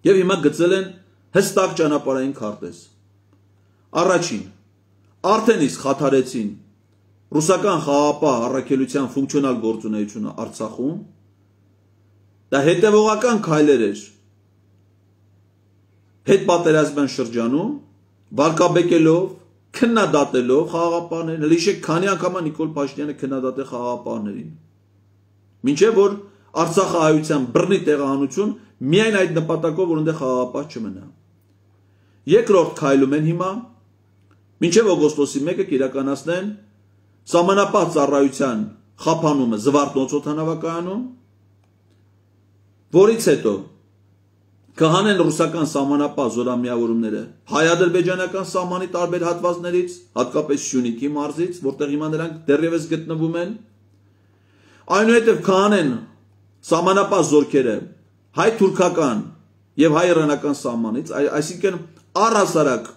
[SPEAKER 1] Եվ հիմա գծել են հստակ ճանապարհային քարտեզ։ Առաջին, արդեն իսկ խաթարեցին ռուսական խաղաղապահ առաքելության ֆունկցիոնալ գործունեությունը Արցախում, դա հետևողական քայլեր էր հետպատերազմյան շրջանում, վարկաբեկելով, քննադատելով խաղաղապահներին, հիշեք քանի անգամ Նիկոլ Փաշինյանը քննադատել խաղաղապահներին։ Մինչև որ Արցախը հայության բռնի տեղահանություն միայն այդ նպատակով, որ այնտեղ խաղաղապահ չմնա։ Երկրորդ քայլում են հիմա, մինչև օգոստոսի մեկը կիրականացնեն սահմանապահ ծառայության խափանումը Զվարթնոց օդանավակայանում, որից հետո կհանեն ռուսական սահմանապահ զորամիավորումները հայ-ադրբեջանական սահմանի տարբեր հատվածներից, հատկապես Սյունիքի մարզից, որտեղ հիմա նրանք դեռևս գտնվում են, այնուհետև կհանեն սահմանապահ զորքերը հայ-թուրքական եւ հայ-իրանական սահմանից, այսինքն առհասարակ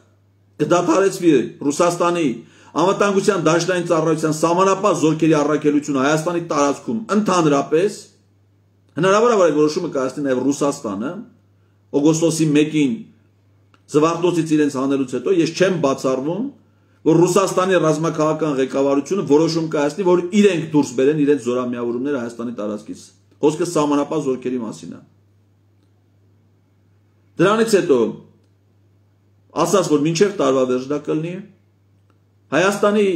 [SPEAKER 1] կդադարեցվի Ռուսաստանի անվտանգության դաշնային ծառայության սահմանապահ զորքերի առաքելությունը Հայաստանի տարածքում ընդհանրապես, հնարավոր է որ այդ որոշումը կայացնի նաեւ Ռուսաստանը, օգոստոսի մեկին Զվարթնոցից իրենց հանելուց հետո ես չեմ բացառվում, որ Ռուսաստանի ռազմաքաղաքական ղեկավարությունը որոշում կայացնի, որ իրենք դուրս բերեն իրենց զորամիավորումները Հայաստանի տարածքից։ Խոսքը սահմանապահ զորքերի մասին է։ Դրանից հետո ասած որ մինչև տարվա վերջը կլինի Հայաստանի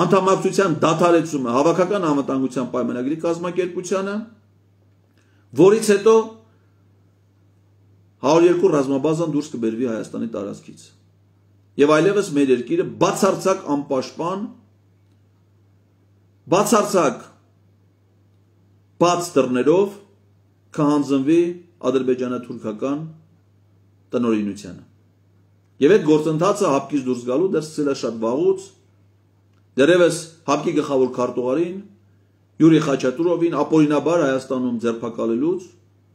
[SPEAKER 1] անդամակցության դադարեցումը հավաքական անվտանգության պայմանագրի կազմակերպությանը, որից հետո հարյուր երկու ռազմաբազան դուրս կբերվի Հայաստանի տարածքից։ Եվ այլևս մեր երկիրը բացարձակ անպաշտպան, բացարձակ բաց դռներով կհանձնվի ադրբեջանա-թուրքական տնօրինությանը։ Եվ այդ գործընթացը հապկից դուրս գալու դեռ սկսել է շատ վաղուց, դեռևս հապկի գլխավոր քարտուղարին Յուրի Խաչատուրովին ապօրինաբար Հայաստանում ձերբակալելուց,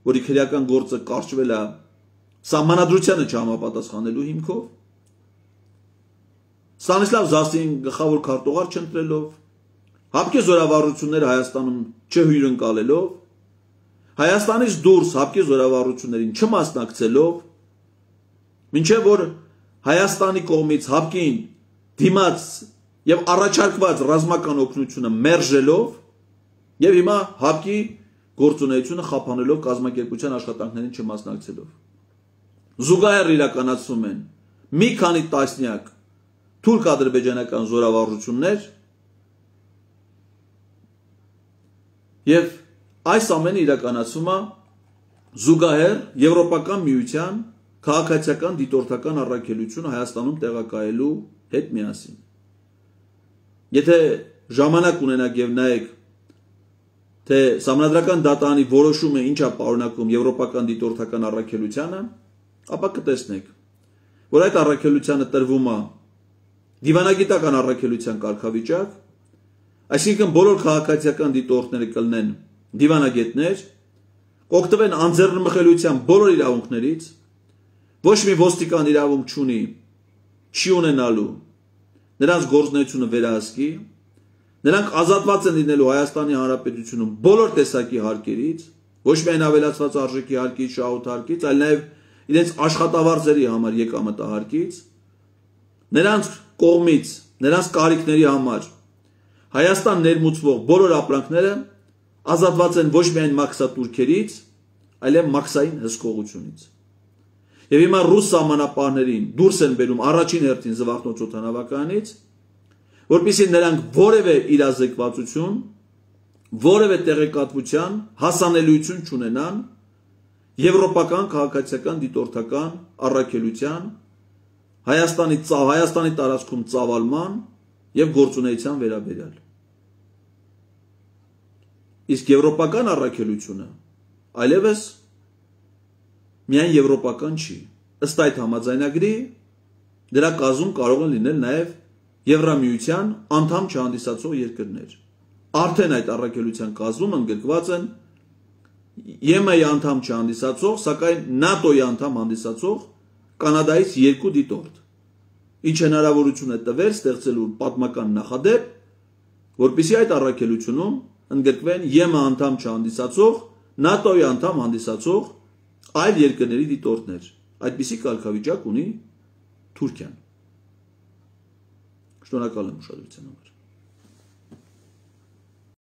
[SPEAKER 1] որի քրեական գործը կարճվել է սահմանադրությանը չհամապատասխանելու հիմքով, Ստանիսլավ Զասին գլխավոր քարտուղար չընտրելով, հապկի զորավարությունները Հայաստանում չհյուրընկալելով, Հայաստանից դուրս հապկի զորավարություններին չմասնակցելով, մինչև որ Հայաստանի կողմից հապկին դիմաց եւ առաջարկված ռազմական օգնությունը մերժելով եւ հիմա հապկի գործունեությունը խափանելով կազմակերպության աշխատանքներին չմասնակցելով։ Զուգահեռ իրականացում են մի քանի տասնյակ թուրք-ադրբեջանական զորավարժություններ եւ այս ամենը իրականացվում է զուգահեռ Եվրոպական միության քաղաքացիական դիտորդական առաքելությունը Հայաստանում տեղակայելու հետ միասին։ Եթե ժամանակ ունենաք եւ նայեք, թե Սահմանադրական դատարանի որոշումը ինչա պարունակում Եվրոպական դիտորդական առաքելությանը, ապա կտեսնեք, որ այդ առաքելությանը տրվում է դիվանագիտական առաքելության կարգավիճակ, այսինքն բոլոր քաղաքացիական դիտորդները կլինեն դիվանագետներ, կօգտվեն անձեռնմխելիության բոլոր իրավունքներից, ոչ մի ոստիկան իրավունք չունի, չի ունենալու նրանց գործունեությունը վերահսկի, նրանք ազատված են լինելու Հայաստանի Հանրապետությունում բոլոր տեսակի հարկերից, ոչ միայն ավելացված արժեքի հարկից, շահութ հարկից, այլ նաև իրենց աշխատավարձերի համար եկամտահարկից, նրանց կողմից, նրանց կարիքների համար Հայաստան ներմուծվող բոլոր ապրանքները ազատված են ոչ միայն մաքսատուրքերից, այլև մաքսային հսկողությունից։ Եվ հիմա ռուս սահմանապահներին դուրս են բերում առաջին հերթին զվարթնոց օդանավականից, որպեսզի նրանք որևէ իրազեկվածություն, որևէ տեղեկատվության հասանելիություն չունենան եվրոպական քաղաքացիական դիտորդական առաքելության, Հայաստանի Հայաստանի տարածքում ծավալման եւ գործունեության վերաբերյալ։ Իսկ եվրոպական առաքելությունը այլևս միայն եվրոպական չի։ Ըստ այդ համաձայնագրի դրա կազմում կարող են լինել նաև Եվրամիության անդամ չհանդիսացող երկրներ։ Արդեն այդ առաքելության կազմում ընդգրկված են Է Մ Ա-ի անդամ չհանդիսացող, սակայն ՆԱՏՕ-ի անդամ հանդիսացող Կանադայից երկու դիտորդ, ինչ հնարավորություն է տվել ստեղծելու պատմական նախադեպ, որպեսզի այդ առաքելությունում ընդգրկվեն Է Մ Ա անդամ չհանդիսացող, ՆԱՏՕ-ի անդամ հանդիսացող այլ երկրների դիտորդներ։ Այդպիսի կարգավիճակ ունի Թուրքիան։ Շնորհակալ եմ ուշադրության համար։